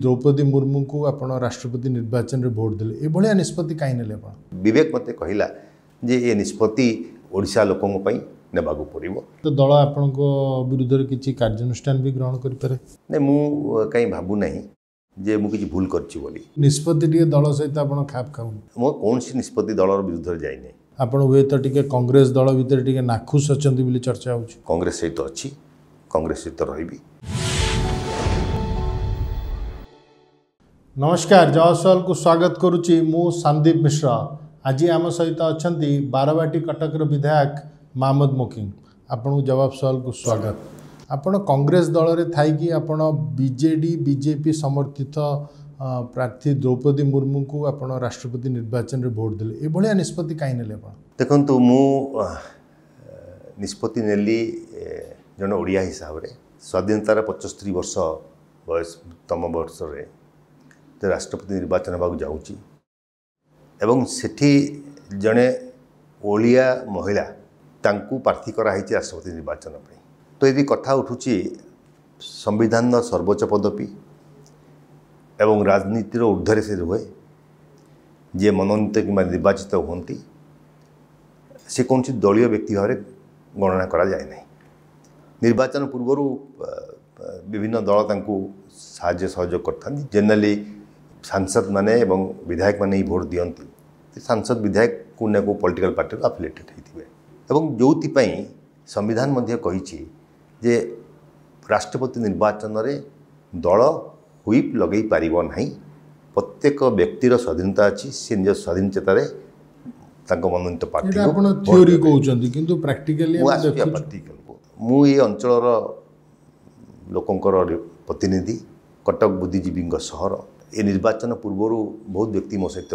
ଦ୍ରୌପଦୀ ମୁର୍ମୁଙ୍କୁ ଆପଣ ରାଷ୍ଟ୍ରପତି ନିର୍ବାଚନରେ ଭୋଟ ଦେଲେ, ଏଭଳିଆ ନିଷ୍ପତ୍ତି କାହିଁ ନେଲେ ଆପଣ? ବିବେକ ମୋତେ କହିଲା ଯେ ଏ ନିଷ୍ପତ୍ତି ଓଡ଼ିଶା ଲୋକଙ୍କ ପାଇଁ ନେବାକୁ ପଡ଼ିବ। ତ ଦଳ ଆପଣଙ୍କ ବିରୁଦ୍ଧରେ କିଛି କାର୍ଯ୍ୟାନୁଷ୍ଠାନ ବି ଗ୍ରହଣ କରିପାରେ? ନାଇଁ, ମୁଁ କାହିଁ ଭାବୁନାହିଁ ଯେ ମୁଁ କିଛି ଭୁଲ କରିଛି ବୋଲି। ନିଷ୍ପତ୍ତି ଟିକେ ଦଳ ସହିତ ଆପଣ ଖାପ ଖାଉନି? ମୋ କୌଣସି ନିଷ୍ପତ୍ତି ଦଳର ବିରୁଦ୍ଧରେ ଯାଇନାହିଁ। ଆପଣ ହୁଏତ ଟିକେ କଂଗ୍ରେସ ଦଳ ଭିତରେ ଟିକେ ନାଖୁସ ଅଛନ୍ତି ବୋଲି ଚର୍ଚ୍ଚା ହେଉଛି। କଂଗ୍ରେସ ସହିତ ଅଛି, କଂଗ୍ରେସ ସହିତ ରହିବି। ନମସ୍କାର, ଜବାବ ସୱାଲକୁ ସ୍ୱାଗତ କରୁଛି ମୁଁ ସନ୍ଦୀପ ମିଶ୍ର। ଆଜି ଆମ ସହିତ ଅଛନ୍ତି ବାରବାଟୀ କଟକର ବିଧାୟକ ମହମ୍ମଦ ମୋକିମ। ଆପଣଙ୍କୁ ଜବାବ ସୱାଲକୁ ସ୍ୱାଗତ। ଆପଣ କଂଗ୍ରେସ ଦଳରେ ଥାଇକି ଆପଣ ବିଜେଡ଼ି ବିଜେପି ସମର୍ଥିତ ପ୍ରାର୍ଥୀ ଦ୍ରୌପଦୀ ମୁର୍ମୁଙ୍କୁ ଆପଣ ରାଷ୍ଟ୍ରପତି ନିର୍ବାଚନରେ ଭୋଟ ଦେଲେ, ଏଭଳିଆ ନିଷ୍ପତ୍ତି କାହିଁ ନେଲେ ଆପଣ? ଦେଖନ୍ତୁ, ମୁଁ ନିଷ୍ପତ୍ତି ନେଲି ଜଣେ ଓଡ଼ିଆ ହିସାବରେ। ସ୍ୱାଧୀନତାର 75 ବର୍ଷ ବୟସ ତମ ବର୍ଷରେ ରାଷ୍ଟ୍ରପତି ନିର୍ବାଚନ ହେବାକୁ ଯାଉଛି ଏବଂ ସେଠି ଜଣେ ଓଡ଼ିଆ ମହିଳା ତାଙ୍କୁ ପ୍ରାର୍ଥୀ କରାହେଇଛି ରାଷ୍ଟ୍ରପତି ନିର୍ବାଚନ ପାଇଁ। ତ ଯଦି କଥା ଉଠୁଛି ସମ୍ବିଧାନର ସର୍ବୋଚ୍ଚ ପଦବୀ ଏବଂ ରାଜନୀତିର ଉର୍ଦ୍ଧ୍ୱରେ ସେ ରୁହେ, ଯିଏ ମନୋନୀତ କିମ୍ବା ନିର୍ବାଚିତ ହୁଅନ୍ତି ସେ କୌଣସି ଦଳୀୟ ବ୍ୟକ୍ତି ଭାବରେ ଗଣନା କରାଯାଏ ନାହିଁ। ନିର୍ବାଚନ ପୂର୍ବରୁ ବିଭିନ୍ନ ଦଳ ତାଙ୍କୁ ସାହାଯ୍ୟ ସହଯୋଗ କରିଥାନ୍ତି। ଜେନେରାଲି ସାଂସଦମାନେ ଏବଂ ବିଧାୟକମାନେ ହିଁ ଭୋଟ ଦିଅନ୍ତି। ସାଂସଦ ବିଧାୟକ କେଉଁ ନା କେଉଁ ପଲିଟିକାଲ ପାର୍ଟିରୁ ଆଫିଲିଏଟେଡ଼ ହେଇଥିବେ ଏବଂ ଯେଉଁଥିପାଇଁ ସମ୍ବିଧାନ ମଧ୍ୟ କହିଛି ଯେ ରାଷ୍ଟ୍ରପତି ନିର୍ବାଚନରେ ଦଳ ହୁଇପ୍ ଲଗାଇ ପାରିବ ନାହିଁ। ପ୍ରତ୍ୟେକ ବ୍ୟକ୍ତିର ସ୍ୱାଧୀନତା ଅଛି, ସେ ନିଜ ସ୍ୱାଧୀନ ଚେତାରେ ତାଙ୍କ ମନୋନୀତ ପ୍ରାର୍ଥୀ। ଆପଣ ଥିଓରି କହୁଛନ୍ତି, କିନ୍ତୁ ପ୍ରାକ୍ଟିକାଲି ମୁଁ ଆସୁଛି ପ୍ରାକ୍ଟିକାଲକୁ। ମୁଁ ଏ ଅଞ୍ଚଳର ଲୋକଙ୍କର ପ୍ରତିନିଧି, କଟକ ବୁଦ୍ଧିଜୀବୀଙ୍କ ସହର। ଏ ନିର୍ବାଚନ ପୂର୍ବରୁ ବହୁତ ବ୍ୟକ୍ତି ମୋ ସହିତ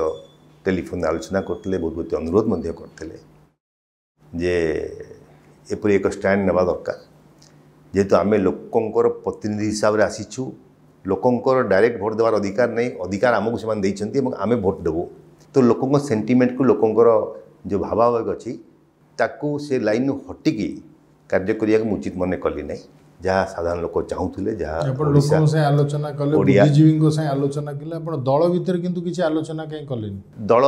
ଟେଲିଫୋନରେ ଆଲୋଚନା କରିଥିଲେ, ବହୁତ ବ୍ୟକ୍ତି ଅନୁରୋଧ ମଧ୍ୟ କରିଥିଲେ ଯେ ଏପରି ଏକ ଷ୍ଟାଣ୍ଡ ନେବା ଦରକାର। ଯେହେତୁ ଆମେ ଲୋକଙ୍କର ପ୍ରତିନିଧି ହିସାବରେ ଆସିଛୁ, ଲୋକଙ୍କର ଡାଇରେକ୍ଟ ଭୋଟ ଦେବାର ଅଧିକାର ନାହିଁ, ଅଧିକାର ଆମକୁ ସେମାନେ ଦେଇଛନ୍ତି ଏବଂ ଆମେ ଭୋଟ ଦେବୁ। ତ ଲୋକଙ୍କ ସେଣ୍ଟିମେଣ୍ଟକୁ, ଲୋକଙ୍କର ଯେଉଁ ଭାବାବେଗ ଅଛି ତାକୁ ସେ ଲାଇନ୍ରୁ ହଟିକି କାର୍ଯ୍ୟ କରିବାକୁ ମୁଁ ଉଚିତ ମନେ କଲି ନାହିଁ। ଯାହା ସାଧାରଣ ଲୋକ ଚାହୁଁଥିଲେ, ଯାହା ଆପଣ ଲୋକଙ୍କ ସାଙ୍ଗେ ଆଲୋଚନା କଲେ, ବୁଦ୍ଧିଜୀବୀଙ୍କ ସାଙ୍ଗେ ଆଲୋଚନା କଲେ, ଆପଣ ଦଳ ଭିତରେ କିନ୍ତୁ କିଛି ଆଲୋଚନା କାହିଁ କଲେନି? ଦଳ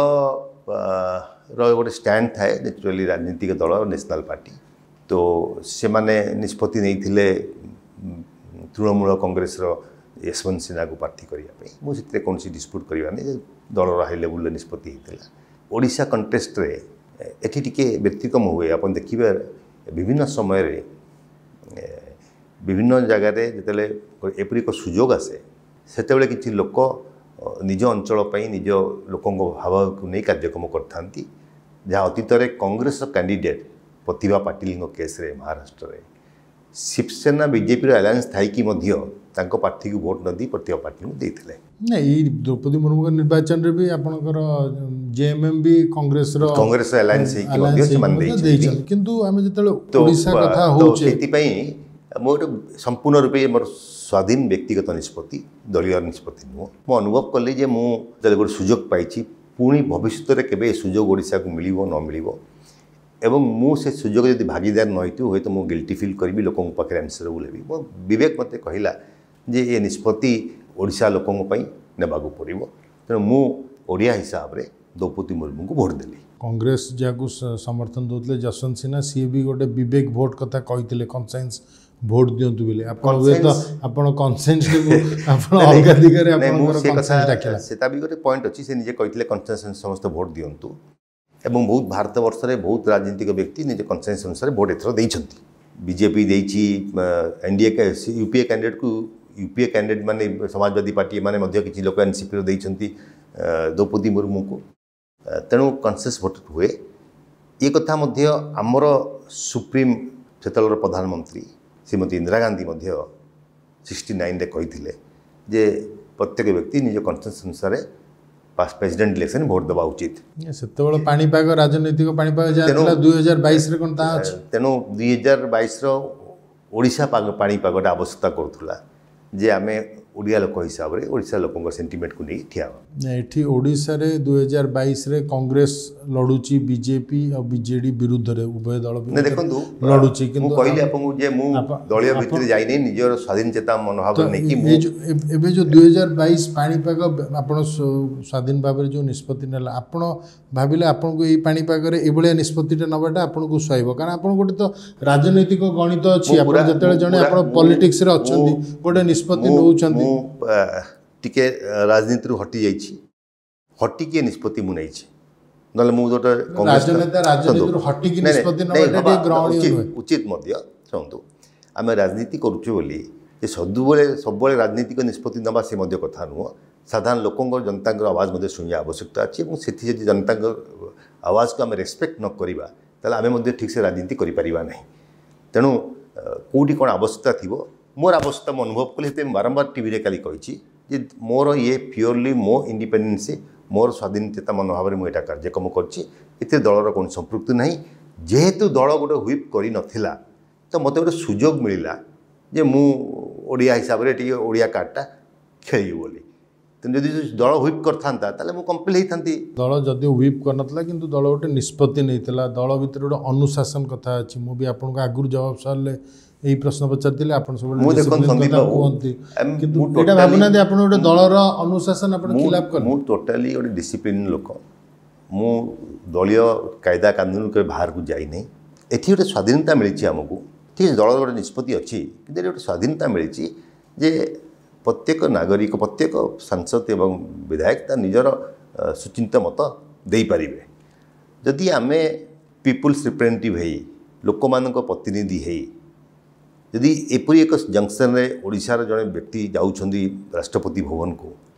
ର ଗୋଟେ ଷ୍ଟାଣ୍ଡ ଥାଏ ନ୍ୟାଚୁରାଲି, ରାଜନୀତିକ ଦଳ ନ୍ୟାସନାଲ୍ ପାର୍ଟି। ତ ସେମାନେ ନିଷ୍ପତ୍ତି ନେଇଥିଲେ ତୃଣମୂଳ କଂଗ୍ରେସର ୟଶବନ୍ତ ସିହ୍ନାକୁ ପ୍ରାର୍ଥୀ କରିବା ପାଇଁ। ମୁଁ ସେଥିରେ କୌଣସି ଡିସ୍ପ୍ୟୁଟ୍ କରିବା ନାହିଁ ଯେ ଦଳର ହାଇ ଲେବୁଲ୍ରେ ନିଷ୍ପତ୍ତି ହେଇଥିଲା। ଓଡ଼ିଶା କଣ୍ଟେଷ୍ଟରେ ଏଠି ଟିକେ ବ୍ୟତିକ୍ରମ ହୁଏ। ଆପଣ ଦେଖିବେ ବିଭିନ୍ନ ସମୟରେ ବିଭିନ୍ନ ଜାଗାରେ ଯେତେବେଳେ ଏପରି ଏକ ସୁଯୋଗ ଆସେ, ସେତେବେଳେ କିଛି ଲୋକ ନିଜ ଅଞ୍ଚଳ ପାଇଁ ନିଜ ଲୋକଙ୍କ ଭାବକୁ ନେଇ କାର୍ଯ୍ୟକ୍ରମ କରିଥାନ୍ତି। ଯାହା ଅତୀତରେ କଂଗ୍ରେସର କ୍ୟାଣ୍ଡିଡେଟ୍ ପ୍ରତିଭା ପାଟିଲଙ୍କ କେସ୍ରେ ମହାରାଷ୍ଟ୍ରରେ ଶିବସେନା ବିଜେପିର ଆଲାଏନ୍ସ ଥାଇକି ମଧ୍ୟ ତାଙ୍କ ପ୍ରାର୍ଥୀକୁ ଭୋଟ ନ ଦେଇ ପ୍ରତିଭା ପାଟିଲଙ୍କୁ ଦେଇଥିଲେ। ନାଇଁ, ଏଇ ଦ୍ରୌପଦୀ ମୁର୍ମୁଙ୍କ ନିର୍ବାଚନରେ ବି ଆପଣଙ୍କର ଜେଏମ୍ଏମ୍ ବି କଂଗ୍ରେସର କଂଗ୍ରେସ ଆଲାଏନ୍ସ ହେଇକି ମଧ୍ୟ ସେମାନେ ଦେଇଛନ୍ତି। କିନ୍ତୁ ଆମେ ଯେତେବେଳେ ଓଡ଼ିଶା କଥା ହଉଛେ, ସେଥିପାଇଁ ମୁଁ ଗୋଟେ ସମ୍ପୂର୍ଣ୍ଣ ରୂପେ ମୋର ସ୍ୱାଧୀନ ବ୍ୟକ୍ତିଗତ ନିଷ୍ପତ୍ତି, ଦଳୀୟ ନିଷ୍ପତ୍ତି ନୁହଁ। ମୁଁ ଅନୁଭବ କଲି ଯେ ମୁଁ ଯେତେବେଳେ ଗୋଟେ ସୁଯୋଗ ପାଇଛି, ପୁଣି ଭବିଷ୍ୟତରେ କେବେ ଏ ସୁଯୋଗ ଓଡ଼ିଶାକୁ ମିଳିବ ନ ମିଳିବ, ଏବଂ ମୁଁ ସେ ସୁଯୋଗ ଯଦି ଭାଗିଦାର ନ ହେଇଥିବ ହୁଏତ ମୁଁ ଗିଲ୍ଟି ଫିଲ୍ କରିବି, ଲୋକଙ୍କ ପାଖରେ ଆନ୍ସରେବୁଲ୍ ହେବି। ମୋ ବିବେକ ମୋତେ କହିଲା ଯେ ଏ ନିଷ୍ପତ୍ତି ଓଡ଼ିଶା ଲୋକଙ୍କ ପାଇଁ ନେବାକୁ ପଡ଼ିବ। ତେଣୁ ମୁଁ ଓଡ଼ିଆ ହିସାବରେ ଦ୍ରୌପଦୀ ମୁର୍ମୁଙ୍କୁ ଭୋଟ ଦେଲି। କଂଗ୍ରେସ ଯାହାକୁ ସମର୍ଥନ ଦେଉଥିଲେ ଯଶବନ୍ତ ସିହ୍ନା, ସିଏ ବି ଗୋଟେ ବିବେକ ଭୋଟ କଥା କହିଥିଲେ, କନସେନ୍ସ ଭୋଟ ଦିଅନ୍ତୁ ବୋଲି। ଆପଣ ହୁଏତ ଆପଣ କନସେନ୍ସକୁ ଆପଣ ଅଲଗା ଦିଗରେ ଆପଣଙ୍କର କନସେନ୍ସ ଡାକିଲା। ସେଟା ବି ଗୋଟେ ପଏଣ୍ଟ ଅଛି। ସେ ନିଜେ କହିଥିଲେ କନସେନ୍ସ ସମସ୍ତେ ଭୋଟ ଦିଅନ୍ତୁ ଏବଂ ବହୁତ ଭାରତବର୍ଷରେ ବହୁତ ରାଜନୀତିକ ବ୍ୟକ୍ତି ନିଜ କନସେନ୍ସ ଅନୁସାରେ ଭୋଟ ଏଥର ଦେଇଛନ୍ତି। ବିଜେପି ଦେଇଛି, N D A U P A କ୍ୟାଣ୍ଡିଡେଟ୍କୁ U P A candidate ମାନେ ସମାଜବାଦୀ ପାର୍ଟି ଏମାନେ ମଧ୍ୟ କିଛି ଲୋକ ଏନ୍ସିପିର ଦେଇଛନ୍ତି ଦ୍ରୌପଦୀ ମୁର୍ମୁଙ୍କୁ। ତେଣୁ କନସେନ୍ସ ଭୋଟ ହୁଏ। ଏ କଥା ମଧ୍ୟ ଆମର ସୁପ୍ରିମ ସେତେବେଳର ପ୍ରଧାନମନ୍ତ୍ରୀ ଶ୍ରୀମତୀ ଇନ୍ଦିରା ଗାନ୍ଧୀ ମଧ୍ୟ 69ରେ କହିଥିଲେ ଯେ ପ୍ରତ୍ୟେକ ବ୍ୟକ୍ତି ନିଜ କନସେନ୍ସ ଅନୁସାରେ ପ୍ରେସିଡେଣ୍ଟ ଇଲେକ୍ସନ୍ ଭୋଟ ଦେବା ଉଚିତ। ସେତେବେଳେ ପାଣିପାଗ, ରାଜନୈତିକ ପାଣିପାଗ ଯାହା ଥିଲା, 2022ରେ କ'ଣ ତାହା ଅଛି? ତେଣୁ 2022ର ଓଡ଼ିଶା ପାଣିପାଗଟା ଆବଶ୍ୟକତା କରୁଥିଲା ଯେ ଆମେ ଓଡ଼ିଆ ଲୋକ ହିସାବରେ ଓଡ଼ିଶା ଲୋକଙ୍କ ସେଣ୍ଟିମେଣ୍ଟକୁ ନେଇ ଠିଆ ହେବା। ଏଠି ଓଡ଼ିଶାରେ 2022ରେ କଂଗ୍ରେସ ଲଢ଼ୁଛି ବିଜେପି ଆଉ ବିଜେଡି ବିରୁଦ୍ଧରେ, ଉଭୟ ଦଳ ଦେଖନ୍ତୁ ଲଢ଼ୁଛି। କିନ୍ତୁ କହିଲି ଆପଣଙ୍କୁ ଯେ ମୁଁ ଦଳୀୟ ଭିତରେ ଯାଇନି, ନିଜର ସ୍ୱାଧୀନ ଚେତା ମନୋଭାବ ନେଇକି। ଏବେ ଯେଉଁ 2022 ପାଣିପାଗ ଆପଣ ସ୍ୱାଧୀନ ଭାବରେ ଯେଉଁ ନିଷ୍ପତ୍ତି ନେଲା, ଆପଣ ଭାବିଲେ ଆପଣଙ୍କୁ ଏଇ ପାଣିପାଗରେ ଏଇଭଳିଆ ନିଷ୍ପତ୍ତିଟା ନେବାଟା ଆପଣଙ୍କୁ ସୁହାଇବ? କାରଣ ଆପଣ ଗୋଟେ ତ ରାଜନୈତିକ ଗଣିତ ଅଛି, ଆପଣ ଯେତେବେଳେ ଜଣେ ଆପଣ ପଲିଟିକ୍ସରେ ଅଛନ୍ତି ଗୋଟେ ନିଷ୍ପତ୍ତି ନେଉଛନ୍ତି। ମୁଁ ଟିକେ ରାଜନୀତିରୁ ହଟି ଯାଇଛି, ହଟିକି ଏ ନିଷ୍ପତ୍ତି ମୁଁ ନେଇଛି। ନହେଲେ ମୁଁ ଗୋଟେ ଉଚିତ ମଧ୍ୟ। ଶୁଣନ୍ତୁ, ଆମେ ରାଜନୀତି କରୁଛୁ ବୋଲି ଯେ ସବୁବେଳେ ରାଜନୀତିକ ନିଷ୍ପତ୍ତି ନେବା ସେ ମଧ୍ୟ କଥା ନୁହଁ। ସାଧାରଣ ଲୋକଙ୍କ ଜନତାଙ୍କର ଆୱାଜ ମଧ୍ୟ ଶୁଣିବା ଆବଶ୍ୟକତା ଅଛି, ଏବଂ ସେଠି ଯଦି ଜନତାଙ୍କ ଆୱାଜକୁ ଆମେ ରେସ୍ପେକ୍ଟ ନ କରିବା ତାହେଲେ ଆମେ ମଧ୍ୟ ଠିକ୍ସେ ରାଜନୀତି କରିପାରିବା ନାହିଁ। ତେଣୁ କେଉଁଠି କ'ଣ ଆବଶ୍ୟକତା ଥିବ, ମୋର ଆବଶ୍ୟକତା ମୁଁ ଅନୁଭବ କଲି। ସେଥିପାଇଁ ବାରମ୍ବାର ଟିଭିରେ କାଲି କହିଛି ଯେ ମୋର ଇଏ ପିଓରଲି ମୋ ଇଣ୍ଡିପେଣ୍ଡେନ୍ସି, ମୋର ସ୍ୱାଧୀନଚେତା ମନୋଭାବରେ ମୁଁ ଏଇଟା କାର୍ଯ୍ୟକ୍ରମ କରିଛି, ଏଥିରେ ଦଳର କୌଣସି ସମ୍ପୃକ୍ତି ନାହିଁ। ଯେହେତୁ ଦଳ ଗୋଟେ ହ୍ୱିପ୍ କରିନଥିଲା, ତ ମୋତେ ଗୋଟେ ସୁଯୋଗ ମିଳିଲା ଯେ ମୁଁ ଓଡ଼ିଆ ହିସାବରେ ଟିକେ ଓଡ଼ିଆ କାର୍ଡ଼ଟା ଖେଳିବି ବୋଲି। ତେଣୁ ଯଦି ଦଳ ହ୍ୱିପ୍ କରିଥାନ୍ତା ତାହେଲେ ମୁଁ କମ୍ପେଲ୍ ହେଇଥାନ୍ତି। ଦଳ ଯଦି ହ୍ୱିପ୍ କରିନଥିଲା କିନ୍ତୁ ଦଳ ଗୋଟେ ନିଷ୍ପତ୍ତି ନେଇଥିଲା, ଦଳ ଭିତରେ ଗୋଟେ ଅନୁଶାସନ କଥା ଅଛି। ମୁଁ ବି ଆପଣଙ୍କୁ ଆଗରୁ ଜବାବ ସରିଲେ ଏଇ ପ୍ରଶ୍ନ ପଚାରିଥିଲି, ଆପଣ ସବୁବେଳେ କୁହନ୍ତି, କିନ୍ତୁ ଏଇଟା ଭାବୁନାହାନ୍ତି ଆପଣ ଗୋଟେ ଦଳର ଅନୁଶାସନ ଆପଣ ଖିଲାପ କଲେ? ମୁଁ ଟୋଟାଲି ଗୋଟେ ଡିସିପ୍ଲିନ୍ ଲୋକ, ମୁଁ ଦଳୀୟ କାଇଦା କାନୁନ କେବେ ବାହାରକୁ ଯାଇନାହିଁ। ଏଠି ଗୋଟେ ସ୍ୱାଧୀନତା ମିଳିଛି ଆମକୁ, ଠିକ୍ ଦଳର ଗୋଟେ ନିଷ୍ପତ୍ତି ଅଛି, କିନ୍ତୁ ଏଠି ଗୋଟେ ସ୍ୱାଧୀନତା ମିଳିଛି ଯେ ପ୍ରତ୍ୟେକ ନାଗରିକ, ପ୍ରତ୍ୟେକ ସାଂସଦ ଏବଂ ବିଧାୟକ ତା ନିଜର ସୁଚିନ୍ତିତ ମତ ଦେଇପାରିବେ। ଯଦି ଆମେ ପିପୁଲ୍ସ ରିପ୍ରେଜେଣ୍ଟେଟିଭ୍ ହେଇ, ଲୋକମାନଙ୍କ ପ୍ରତିନିଧି ହେଇ, ଯଦି ଏପରି ଏକ ଜଙ୍କସନ୍ରେ ଓଡ଼ିଶାର ଜଣେ ବ୍ୟକ୍ତି ଯାଉଛନ୍ତି ରାଷ୍ଟ୍ରପତି ଭବନକୁ,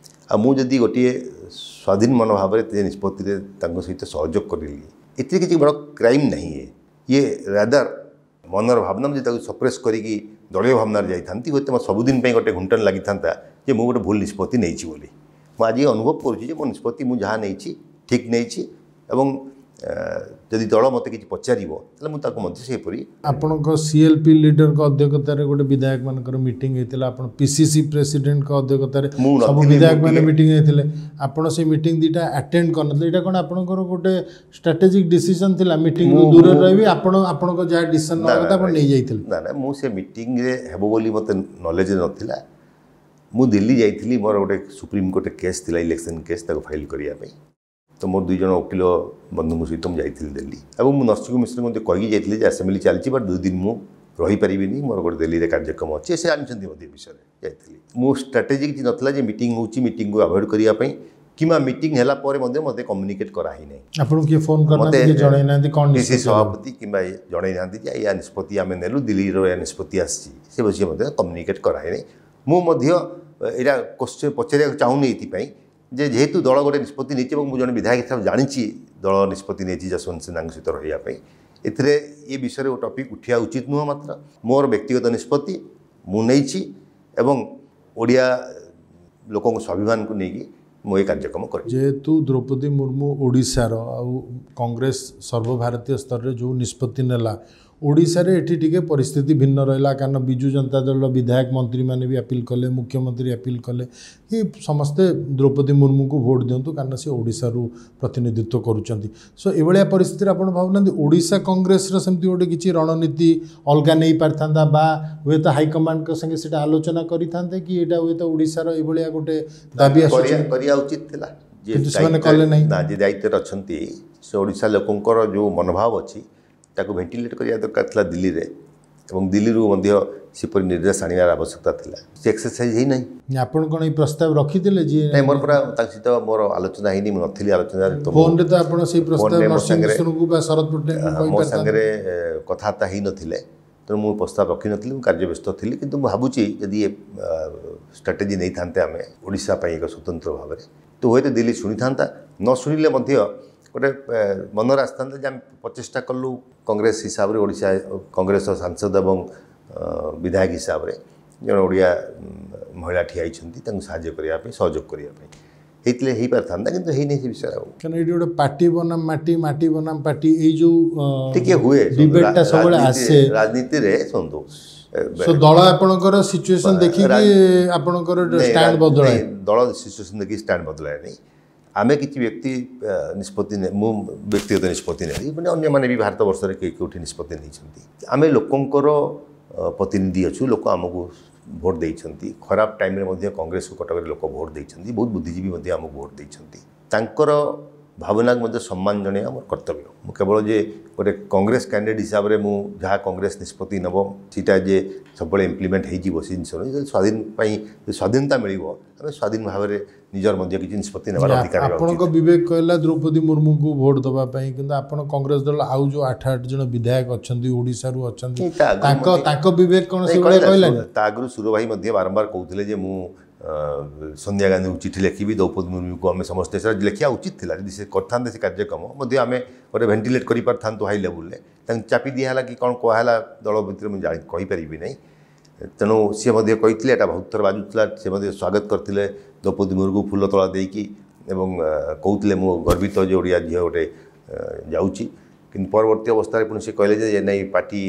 ଆଉ ମୁଁ ଯଦି ଗୋଟିଏ ସ୍ୱାଧୀନ ମନୋଭାବରେ ସେ ନିଷ୍ପତ୍ତିରେ ତାଙ୍କ ସହିତ ସହଯୋଗ କରିଲି, ଏଥିରେ କିଛି ବଡ଼ କ୍ରାଇମ୍ ନାହିଁ। ଇଏ ରାଦର ମନର ଭାବନା, ମୁଁ ଯଦି ତାକୁ ସପ୍ରେସ୍ କରିକି ଦଳୀୟ ଭାବନାରେ ଯାଇଥାନ୍ତି, ହୁଏତ ମୋ ସବୁଦିନ ପାଇଁ ଗୋଟେ ଘୁଣ୍ଟନ ଲାଗିଥାନ୍ତା ଯେ ମୁଁ ଗୋଟେ ଭୁଲ ନିଷ୍ପତ୍ତି ନେଇଛି ବୋଲି। ମୁଁ ଆଜି ଅନୁଭବ କରୁଛି ଯେ ମୋ ନିଷ୍ପତ୍ତି ମୁଁ ଯାହା ନେଇଛି ଠିକ୍ ନେଇଛି, ଏବଂ ଯଦି ଦଳ ମୋତେ କିଛି ପଚାରିବ ତାହେଲେ ମୁଁ ତାକୁ ମଧ୍ୟ ସେହିପରି। ଆପଣଙ୍କ ସିଏଲ୍ପି ଲିଡରଙ୍କ ଅଧ୍ୟକ୍ଷତାରେ ଗୋଟେ ବିଧାୟକମାନଙ୍କର ମିଟିଂ ହେଇଥିଲା, ଆପଣ ପିସିସି ପ୍ରେସିଡେଣ୍ଟଙ୍କ ଅଧ୍ୟକ୍ଷତାରେ ସବୁ ବିଧାୟକମାନେ ମିଟିଂ ହେଇଥିଲେ, ଆପଣ ସେଇ ମିଟିଂ ଦୁଇଟା ଆଟେଣ୍ଡ କରିନଥିଲେ। ଏଇଟା କ'ଣ ଆପଣଙ୍କର ଗୋଟେ ଷ୍ଟ୍ରାଟେଜିକ୍ ଡିସିସନ୍ ଥିଲା, ମିଟିଂରୁ ଦୂରରେ ରହିବି, ଆପଣ ଆପଣଙ୍କ ଯାହା ଡିସିସନ୍ ନେବା କଥା ଆପଣ ନେଇଯାଇଥିଲେ? ନା ନା, ମୁଁ ସେ ମିଟିଂରେ ହେବ ବୋଲି ମୋତେ ନଲେଜ ନଥିଲା। ମୁଁ ଦିଲ୍ଲୀ ଯାଇଥିଲି, ମୋର ଗୋଟେ ସୁପ୍ରିମକୋର୍ଟରେ କେସ୍ ଥିଲା, ଇଲେକ୍ସନ୍ କେସ୍, ତାକୁ ଫାଇଲ୍ କରିବା ପାଇଁ। ତ ମୋର 2 ଜଣ ଓକିଲ ବନ୍ଧୁଙ୍କ ସହିତ ମୁଁ ଯାଇଥିଲି ଦିଲ୍ଲୀ, ଏବଂ ମୁଁ ନରସିଂହ ମିଶ୍ରଙ୍କୁ ମଧ୍ୟ କହିକି ଯାଇଥିଲି ଯେ ଆସେମ୍ବଲି ଚାଲିଛି, ବଟ୍ 2 ଦିନ ମୁଁ ରହିପାରିବିନି, ମୋର ଗୋଟେ ଦିଲ୍ଲୀରେ କାର୍ଯ୍ୟକ୍ରମ ଅଛି। ସେ ଜାଣିଛନ୍ତି ମଧ୍ୟ ବିଷୟରେ। ଯାଇଥିଲି, ମୁଁ ଷ୍ଟ୍ରାଟେଜି କିଛି ନଥିଲା ଯେ ମିଟିଂ ହେଉଛି ମିଟିଂକୁ ଆଭଏଡ଼ କରିବା ପାଇଁ, କିମ୍ବା ମିଟିଂ ହେଲା ପରେ ମଧ୍ୟ ମୋତେ କମ୍ୟୁନିକେଟ୍ କରାହେଇନାହିଁ। ଆପଣଙ୍କୁ କିଏ ଫୋନ୍ କରିନାହାନ୍ତି, ଜଣେଇନାହାନ୍ତି? କ'ଣ ପିସି ସଭାପତି କିମ୍ବା ଜଣେଇନାହାନ୍ତି ଯେ ଏୟା ନିଷ୍ପତ୍ତି ଆମେ ନେଲୁ, ଦିଲ୍ଲୀର ଏହା ନିଷ୍ପତ୍ତି ଆସିଛି, ସେ ବିଷୟ ମଧ୍ୟ କମ୍ୟୁନିକେଟ୍ କରାହେଇନାହିଁ। ମୁଁ ମଧ୍ୟ ଏଇଟା କ୍ୱେଶ୍ଚନ୍ ପଚାରିବାକୁ ଚାହୁଁନି ଏଇଥିପାଇଁ ଯେ ଯେହେତୁ ଦଳ ଗୋଟେ ନିଷ୍ପତ୍ତି ନେଇଛି ଏବଂ ମୁଁ ଜଣେ ବିଧାୟକ ହିସାବରେ ଜାଣିଛି ଦଳ ନିଷ୍ପତ୍ତି ନେଇଛି ଯଶବନ୍ତ ସିହ୍ନାଙ୍କ ସହିତ ରହିବା ପାଇଁ, ଏଥିରେ ଏ ବିଷୟରେ ଟପିକ୍ ଉଠିବା ଉଚିତ ନୁହଁ। ମାତ୍ର ମୋର ବ୍ୟକ୍ତିଗତ ନିଷ୍ପତ୍ତି ମୁଁ ନେଇଛି ଏବଂ ଓଡ଼ିଆ ଲୋକଙ୍କ ସ୍ୱାଭିମାନକୁ ନେଇକି ମୁଁ ଏ କାର୍ଯ୍ୟକ୍ରମ କରିଛି। ଯେହେତୁ ଦ୍ରୌପଦୀ ମୁର୍ମୁ ଓଡ଼ିଶାର ଆଉ କଂଗ୍ରେସ ସର୍ବଭାରତୀୟ ସ୍ତରରେ ଯେଉଁ ନିଷ୍ପତ୍ତି ନେଲା, ଓଡ଼ିଶାରେ ଏଠି ଟିକେ ପରିସ୍ଥିତି ଭିନ୍ନ ରହିଲା, କାରଣ ବିଜୁ ଜନତା ଦଳର ବିଧାୟକ ମନ୍ତ୍ରୀମାନେ ବି ଆପିଲ୍ କଲେ, ମୁଖ୍ୟମନ୍ତ୍ରୀ ଆପିଲ୍ କଲେ କି ସମସ୍ତେ ଦ୍ରୌପଦୀ ମୁର୍ମୁଙ୍କୁ ଭୋଟ୍ ଦିଅନ୍ତୁ, କାରଣ ସେ ଓଡ଼ିଶାରୁ ପ୍ରତିନିଧିତ୍ୱ କରୁଛନ୍ତି। ସୋ ଏଭଳିଆ ପରିସ୍ଥିତିରେ ଆପଣ ଭାବୁନାହାନ୍ତି ଓଡ଼ିଶା କଂଗ୍ରେସର ସେମିତି ଗୋଟେ କିଛି ରଣନୀତି ଅଲଗା ନେଇପାରିଥାନ୍ତା, ବା ହୁଏତ ହାଇକମାଣ୍ଡଙ୍କ ସାଙ୍ଗେ ସେଇଟା ଆଲୋଚନା କରିଥାନ୍ତେ କି ଏଇଟା ହୁଏତ ଓଡ଼ିଶାର ଏଇଭଳିଆ ଗୋଟେ ଦାବି କରିବା ଉଚିତ ଥିଲା, କିନ୍ତୁ ସେମାନେ କଲେ ନାହିଁ। ନା, ଯେ ଦାୟିତ୍ୱରେ ଅଛନ୍ତି ସେ ଓଡ଼ିଶା ଲୋକଙ୍କର ଯେଉଁ ମନୋଭାବ ଅଛି ତାକୁ ଭେଣ୍ଟିଲେଟ୍ କରିବା ଦରକାର ଥିଲା ଦିଲ୍ଲୀରେ, ଏବଂ ଦିଲ୍ଲୀରୁ ମଧ୍ୟ ସେପରି ନିର୍ଦ୍ଦେଶ ଆଣିବାର ଆବଶ୍ୟକତା ଥିଲା। ସେ ଏକ୍ସରସାଇଜ୍ ହେଇନାହିଁ। ଆପଣ କ'ଣ ଏଇ ପ୍ରସ୍ତାବ ରଖିଥିଲେ? ଯିଏ ନାଇଁ, ମୋର ପୁରା ତାଙ୍କ ସହିତ ମୋର ଆଲୋଚନା ହେଇନି, ମୁଁ ନଥିଲି ଆଲୋଚନାରେ। ଫୋନ୍ରେ ତ ଆପଣ ସେଇ ପ୍ରସ୍ତାବ ନରସିଂହ ମିଶ୍ରଙ୍କୁ ବା ଶରଦ ପଟ୍ଟନାୟକଙ୍କୁ ମୋ ସାଙ୍ଗରେ କଥାବାର୍ତ୍ତା ହେଇନଥିଲେ, ତେଣୁ ମୁଁ ପ୍ରସ୍ତାବ ରଖିନଥିଲି, ମୁଁ କାର୍ଯ୍ୟବ୍ୟସ୍ତ ଥିଲି। କିନ୍ତୁ ମୁଁ ଭାବୁଛି ଯଦି ଏ ଷ୍ଟ୍ରାଟେଜି ନେଇଥାନ୍ତେ ଆମେ ଓଡ଼ିଶା ପାଇଁ ଏକ ସ୍ୱତନ୍ତ୍ର ଭାବରେ, ତ ହୁଏତ ଦିଲ୍ଲୀ ଶୁଣିଥାନ୍ତା, ନ ଶୁଣିଲେ ମଧ୍ୟ ଗୋଟେ ମନରେ ଆସିଥାନ୍ତା ଯେ ଆମେ ପ୍ରଚେଷ୍ଟା କଲୁ କଂଗ୍ରେସ ହିସାବରେ, ଓଡ଼ିଶା କଂଗ୍ରେସର ସାଂସଦ ଏବଂ ବିଧାୟକ ହିସାବରେ ଜଣେ ଓଡ଼ିଆ ମହିଳା ଠିଆ ହେଇଛନ୍ତି, ତାଙ୍କୁ ସାହାଯ୍ୟ କରିବା ପାଇଁ, ସହଯୋଗ କରିବା ପାଇଁ ହେଇଥିଲେ ହେଇପାରିଥାନ୍ତା, କିନ୍ତୁ ହେଇନି ସେ ବିଷୟରେ। ଆଉ କାରଣ ଏଇଠି ଗୋଟେ ପାର୍ଟି ବନାମ ମାଟି, ମାଟି ବନାମ ପାର୍ଟି, ଏଇ ଯେଉଁ ଟିକେ ହୁଏ ଡିବେଟ୍ଟା ସବୁବେଳେ ଆସେ ରାଜନୀତିରେ। ଶୁଣନ୍ତୁ, ସୋ ଦଳ ଆପଣଙ୍କର ସିଚୁଏସନ୍ ଦେଖିକି ଆପଣଙ୍କର ଷ୍ଟାଣ୍ଡ ବଦଳାଏ? ଦଳ ସିଚୁଏସନ୍ ଦେଖିକି ଷ୍ଟାଣ୍ଡ ବଦଳାଏ ନାହିଁ। ଆମେ କିଛି ବ୍ୟକ୍ତି ନିଷ୍ପତ୍ତି, ମୁଁ ବ୍ୟକ୍ତିଗତ ନିଷ୍ପତ୍ତି ନେଲି, ମାନେ ଅନ୍ୟମାନେ ବି ଭାରତ ବର୍ଷରେ କେହି କେଉଁଠି ନିଷ୍ପତ୍ତି ନେଇଛନ୍ତି। ଆମେ ଲୋକଙ୍କର ପ୍ରତିନିଧି ଅଛୁ, ଲୋକ ଆମକୁ ଭୋଟ ଦେଇଛନ୍ତି। ଖରାପ ଟାଇମ୍ରେ ମଧ୍ୟ କଂଗ୍ରେସକୁ କଟକରେ ଲୋକ ଭୋଟ ଦେଇଛନ୍ତି, ବହୁତ ବୁଦ୍ଧିଜୀବୀ ମଧ୍ୟ ଆମକୁ ଭୋଟ ଦେଇଛନ୍ତି। ତାଙ୍କର ଭାବନାକୁ ମଧ୍ୟ ସମ୍ମାନ ଜଣାଇବା ମୋର କର୍ତ୍ତବ୍ୟ। ମୁଁ କେବଳ ଯେ ଗୋଟେ କଂଗ୍ରେସ କ୍ୟାଣ୍ଡିଡେଟ୍ ହିସାବରେ ମୁଁ ଯାହା କଂଗ୍ରେସ ନିଷ୍ପତ୍ତି ନେବ ସେଇଟା ଯେ ସବୁବେଳେ ଇମ୍ପ୍ଲିମେଣ୍ଟ ହେଇଯିବ ସେ ଜିନିଷ ନୁହେଁ। ଯଦି ସ୍ୱାଧୀନ ପାଇଁ ସ୍ୱାଧୀନତା ମିଳିବ, ଆମେ ସ୍ୱାଧୀନ ଭାବରେ ନିଜର ମଧ୍ୟ କିଛି ନିଷ୍ପତ୍ତି ନେବାର ଅଧିକାର। ଆପଣଙ୍କ ବିବେକ କହିଲା ଦ୍ରୌପଦୀ ମୁର୍ମୁଙ୍କୁ ଭୋଟ ଦେବା ପାଇଁ, କିନ୍ତୁ ଆପଣ କଂଗ୍ରେସ ଦଳ ଆଉ ଯେଉଁ 8 ଜଣ ବିଧାୟକ ଅଛନ୍ତି ଓଡ଼ିଶାରୁ ଅଛନ୍ତି, ତାଙ୍କ ବିବେକ କ'ଣ ସେଇଭଳିଆ କହିଲାନି? ତା ଆଗରୁ ସୁର ଭାଇ ମଧ୍ୟ ବାରମ୍ବାର କହୁଥିଲେ ଯେ ମୁଁ ସୋନିଆ ଗାନ୍ଧୀଙ୍କୁ ଚିଠି ଲେଖିବି, ଦ୍ରୌପଦୀ ମୁର୍ମୁଙ୍କୁ ଆମେ ସମସ୍ତେ ସେଟା ଲେଖିବା ଉଚିତ ଥିଲା। ଯଦି ସେ କରିଥାନ୍ତେ ସେ କାର୍ଯ୍ୟକ୍ରମ ମଧ୍ୟ ଆମେ ଗୋଟେ ଭେଣ୍ଟିଲେଟ୍ କରିପାରିଥାନ୍ତୁ ହାଇ ଲେବୁଲ୍ରେ। ତାଙ୍କୁ ଚାପି ଦିଆହେଲା କି କ'ଣ କୁହାହେଲା ଦଳ ଭିତରେ ମୁଁ ଜାଣି କହିପାରିବି ନାହିଁ। ତେଣୁ ସିଏ ମଧ୍ୟ କହିଥିଲେ, ଏଇଟା ବହୁତ ଥର ବାଜୁଥିଲା, ସେ ମଧ୍ୟ ସ୍ୱାଗତ କରିଥିଲେ ଦ୍ରୌପଦୀ ମୁର୍ମୁଙ୍କୁ ଫୁଲ ତୋଳା ଦେଇକି ଏବଂ କହୁଥିଲେ ମୁଁ ଗର୍ବିତ ଯେ ଓଡ଼ିଆ ଝିଅ ଗୋଟେ ଯାଉଛି। କିନ୍ତୁ ପରବର୍ତ୍ତୀ ଅବସ୍ଥାରେ ପୁଣି ସେ କହିଲେ ଯେ ନାଇଁ, ପାର୍ଟି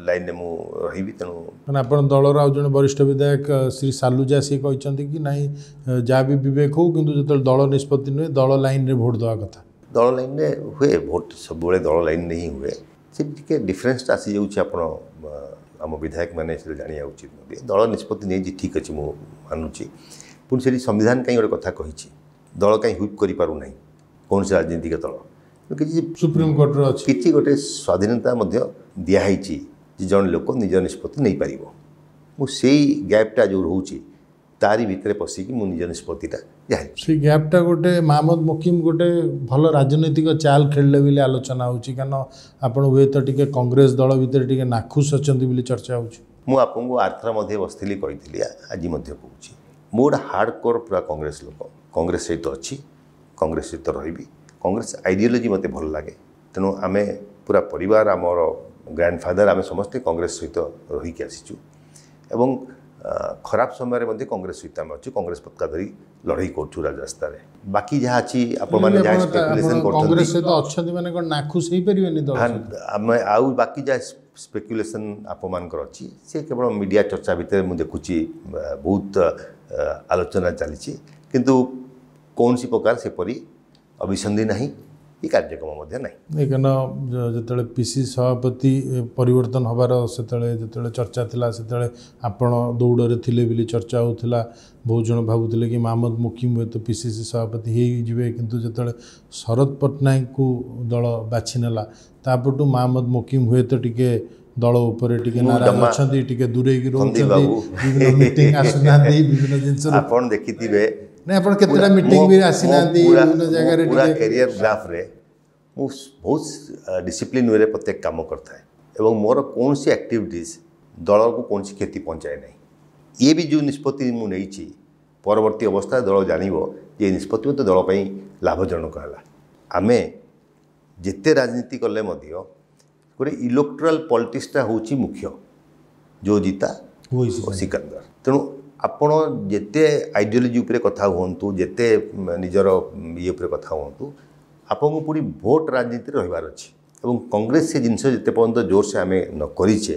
ଲାଇନ୍ରେ ମୁଁ ରହିବି। ତେଣୁ ମାନେ ଆପଣ ଦଳର ଆଉ ଜଣେ ବରିଷ୍ଠ ବିଧାୟକ ଶ୍ରୀ ସାଲୁଜା ସିଏ କହିଛନ୍ତି କି ନାଇଁ, ଯାହା ବି ବିବେକ ହଉ, କିନ୍ତୁ ଯେତେବେଳେ ଦଳ ନିଷ୍ପତ୍ତି ନୁହେଁ ଦଳ ଲାଇନ୍ରେ ଭୋଟ ଦେବା କଥା। ଦଳ ଲାଇନ୍ରେ ହୁଏ ଭୋଟ, ସବୁବେଳେ ଦଳ ଲାଇନ୍ରେ ହିଁ ହୁଏ। ସେଠି ଟିକେ ଡିଫରେନ୍ସଟା ଆସିଯାଉଛି, ଆପଣ ଆମ ବିଧାୟକମାନେ ସେଟା ଜାଣିବା ଉଚିତ ମଧ୍ୟ। ଦଳ ନିଷ୍ପତ୍ତି ନେଇଛି, ଠିକ୍ ଅଛି, ମୁଁ ମାନୁଛି। ପୁଣି ସେଠି ସମ୍ବିଧାନ କାହିଁ ଗୋଟେ କଥା କହିଛି, ଦଳ କାହିଁ ହୁଇପ୍ କରିପାରୁନାହିଁ କୌଣସି ରାଜନୈତିକ ଦଳ? କିଛି ସୁପ୍ରିମକୋର୍ଟର ଅଛି, କିଛି ଗୋଟେ ସ୍ୱାଧୀନତା ମଧ୍ୟ ଦିଆହେଇଛି ଯେ ଜଣେ ଲୋକ ନିଜ ନିଷ୍ପତ୍ତି ନେଇପାରିବ। ମୁଁ ସେଇ ଗ୍ୟାପ୍ଟା ଯେଉଁ ରହୁଛି ତାରି ଭିତରେ ପଶିକି ମୁଁ ନିଜ ନିଷ୍ପତ୍ତିଟା ଜାଣିଛି। ସେଇ ଗ୍ୟାପ୍ଟା ଗୋଟେ ମହମ୍ମଦ ମୁକିମ ଗୋଟେ ଭଲ ରାଜନୈତିକ ଚାଲ ଖେଳିଲେ ବୋଲି ଆଲୋଚନା ହେଉଛି, କାରଣ ଆପଣ ହୁଏତ ଟିକେ କଂଗ୍ରେସ ଦଳ ଭିତରେ ଟିକେ ନାଖୁସ ଅଛନ୍ତି ବୋଲି ଚର୍ଚ୍ଚା ହେଉଛି। ମୁଁ ଆପଣଙ୍କୁ ଆରଥର ମଧ୍ୟ ବସିଥିଲି କହିଥିଲି, ଆଜି ମଧ୍ୟ କହୁଛି, ମୁଁ ଗୋଟେ ହାର୍ଡ଼ କୋର୍ ପୁରା କଂଗ୍ରେସ ଲୋକ, କଂଗ୍ରେସ ସହିତ ଅଛି, କଂଗ୍ରେସ ସହିତ ରହିବି। କଂଗ୍ରେସ ଆଇଡ଼ିଓଲୋଜି ମୋତେ ଭଲ ଲାଗେ, ତେଣୁ ଆମେ ପୁରା ପରିବାର, ଆମର ଗ୍ରାଣ୍ଡଫାଦର, ଆମେ ସମସ୍ତେ କଂଗ୍ରେସ ସହିତ ରହିକି ଆସିଛୁ ଏବଂ ଖରାପ ସମୟରେ ମଧ୍ୟ କଂଗ୍ରେସ ସହିତ ଆମେ ଅଛୁ, କଂଗ୍ରେସ ପତାକା ଧରି ଲଢ଼େଇ କରୁଛୁ ରାଜରାସ୍ତାରେ। ବାକି ଯାହା ଅଛି ଆପଣମାନେ ଯାହା ସ୍ପେକୁଲେସନ୍ କରୁଛନ୍ତି, କଂଗ୍ରେସ ସହିତ ଅଛନ୍ତି ମାନେ କ'ଣ ନାଖୁସ ହେଇପାରିବେନି ଦଳ? ଆମେ ଆଉ ବାକି ଯାହା ସ୍ପେକୁଲେସନ୍ ଆପଣମାନଙ୍କର ଅଛି ସେ କେବଳ ମିଡ଼ିଆ ଚର୍ଚ୍ଚା ଭିତରେ ମୁଁ ଦେଖୁଛି ବହୁତ ଆଲୋଚନା ଚାଲିଛି, କିନ୍ତୁ କୌଣସି ପ୍ରକାର ସେପରି ଅଭିସନ୍ଧି ନାହିଁ କି କାର୍ଯ୍ୟକ୍ରମ ମଧ୍ୟ ନାହିଁ। କାରଣ ଯେତେବେଳେ ପିସି ସଭାପତି ପରିବର୍ତ୍ତନ ହେବାର ସେତେବେଳେ ଯେତେବେଳେ ଚର୍ଚ୍ଚା ଥିଲା, ସେତେବେଳେ ଆପଣ ଦୌଡ଼ରେ ଥିଲେ ବୋଲି ଚର୍ଚ୍ଚା ହେଉଥିଲା। ବହୁତ ଜଣ ଭାବୁଥିଲେ କି ମହମ୍ମଦ ମୁକିମ ହୁଏତ ପିସିସି ସଭାପତି ହେଇଯିବେ, କିନ୍ତୁ ଯେତେବେଳେ ଶରତ ପଟ୍ଟନାୟକଙ୍କୁ ଦଳ ବାଛି ନେଲା ତାପରଠୁ ମହମ୍ମଦ ମୁକିମ ହୁଏତ ଟିକେ ଦଳ ଉପରେ ଟିକେ ନାରାଜ ଅଛନ୍ତି, ଟିକେ ଦୂରେଇକି ରହୁଛନ୍ତି, ବିଭିନ୍ନ ମିଟିଂ ଆସୁନାହାନ୍ତି, ବିଭିନ୍ନ ଜିନିଷ ଆପଣ ଦେଖିଥିବେ। ନାଇଁ, ଆପଣ କେତେଟା ମିଟିଂ ବି ଆସିନାହାନ୍ତି ବିଭିନ୍ନ ଜାଗାରେ। ପୁରା କ୍ୟାରିୟର ଗ୍ରାଫରେ ମୁଁ ବହୁତ ଡିସିପ୍ଲିନ୍ ୱେରେ ପ୍ରତ୍ୟେକ କାମ କରିଥାଏ ଏବଂ ମୋର କୌଣସି ଆକ୍ଟିଭିଟିଜ୍ ଦଳକୁ କୌଣସି କ୍ଷତି ପହଞ୍ଚାଏ ନାହିଁ। ଇଏ ବି ଯେଉଁ ନିଷ୍ପତ୍ତି ମୁଁ ନେଇଛି, ପରବର୍ତ୍ତୀ ଅବସ୍ଥାରେ ଦଳ ଜାଣିବ ଯେ ଏ ନିଷ୍ପତ୍ତି ମଧ୍ୟ ଦଳ ପାଇଁ ଲାଭଜନକ ହେଲା। ଆମେ ଯେତେ ରାଜନୀତି କଲେ ମଧ୍ୟ ଗୋଟେ ଇଲେକ୍ଟ୍ରାଲ୍ ପଲିଟିକ୍ସଟା ହେଉଛି ମୁଖ୍ୟ, ଯେଉଁ ଜିତା ସିକନ୍ଦର। ତେଣୁ ଆପଣ ଯେତେ ଆଇଡ଼ିଓଲୋଜି ଉପରେ କଥା ହୁଅନ୍ତୁ, ଯେତେ ନିଜର ଇଏ ଉପରେ କଥା ହୁଅନ୍ତୁ, ଆପଣଙ୍କୁ ପୁଣି ଭୋଟ ରାଜନୀତିରେ ରହିବାର ଅଛି। ଏବଂ କଂଗ୍ରେସ ସେ ଜିନିଷ ଯେତେ ପର୍ଯ୍ୟନ୍ତ ଜୋରସେ ଆମେ ନ କରିଛେ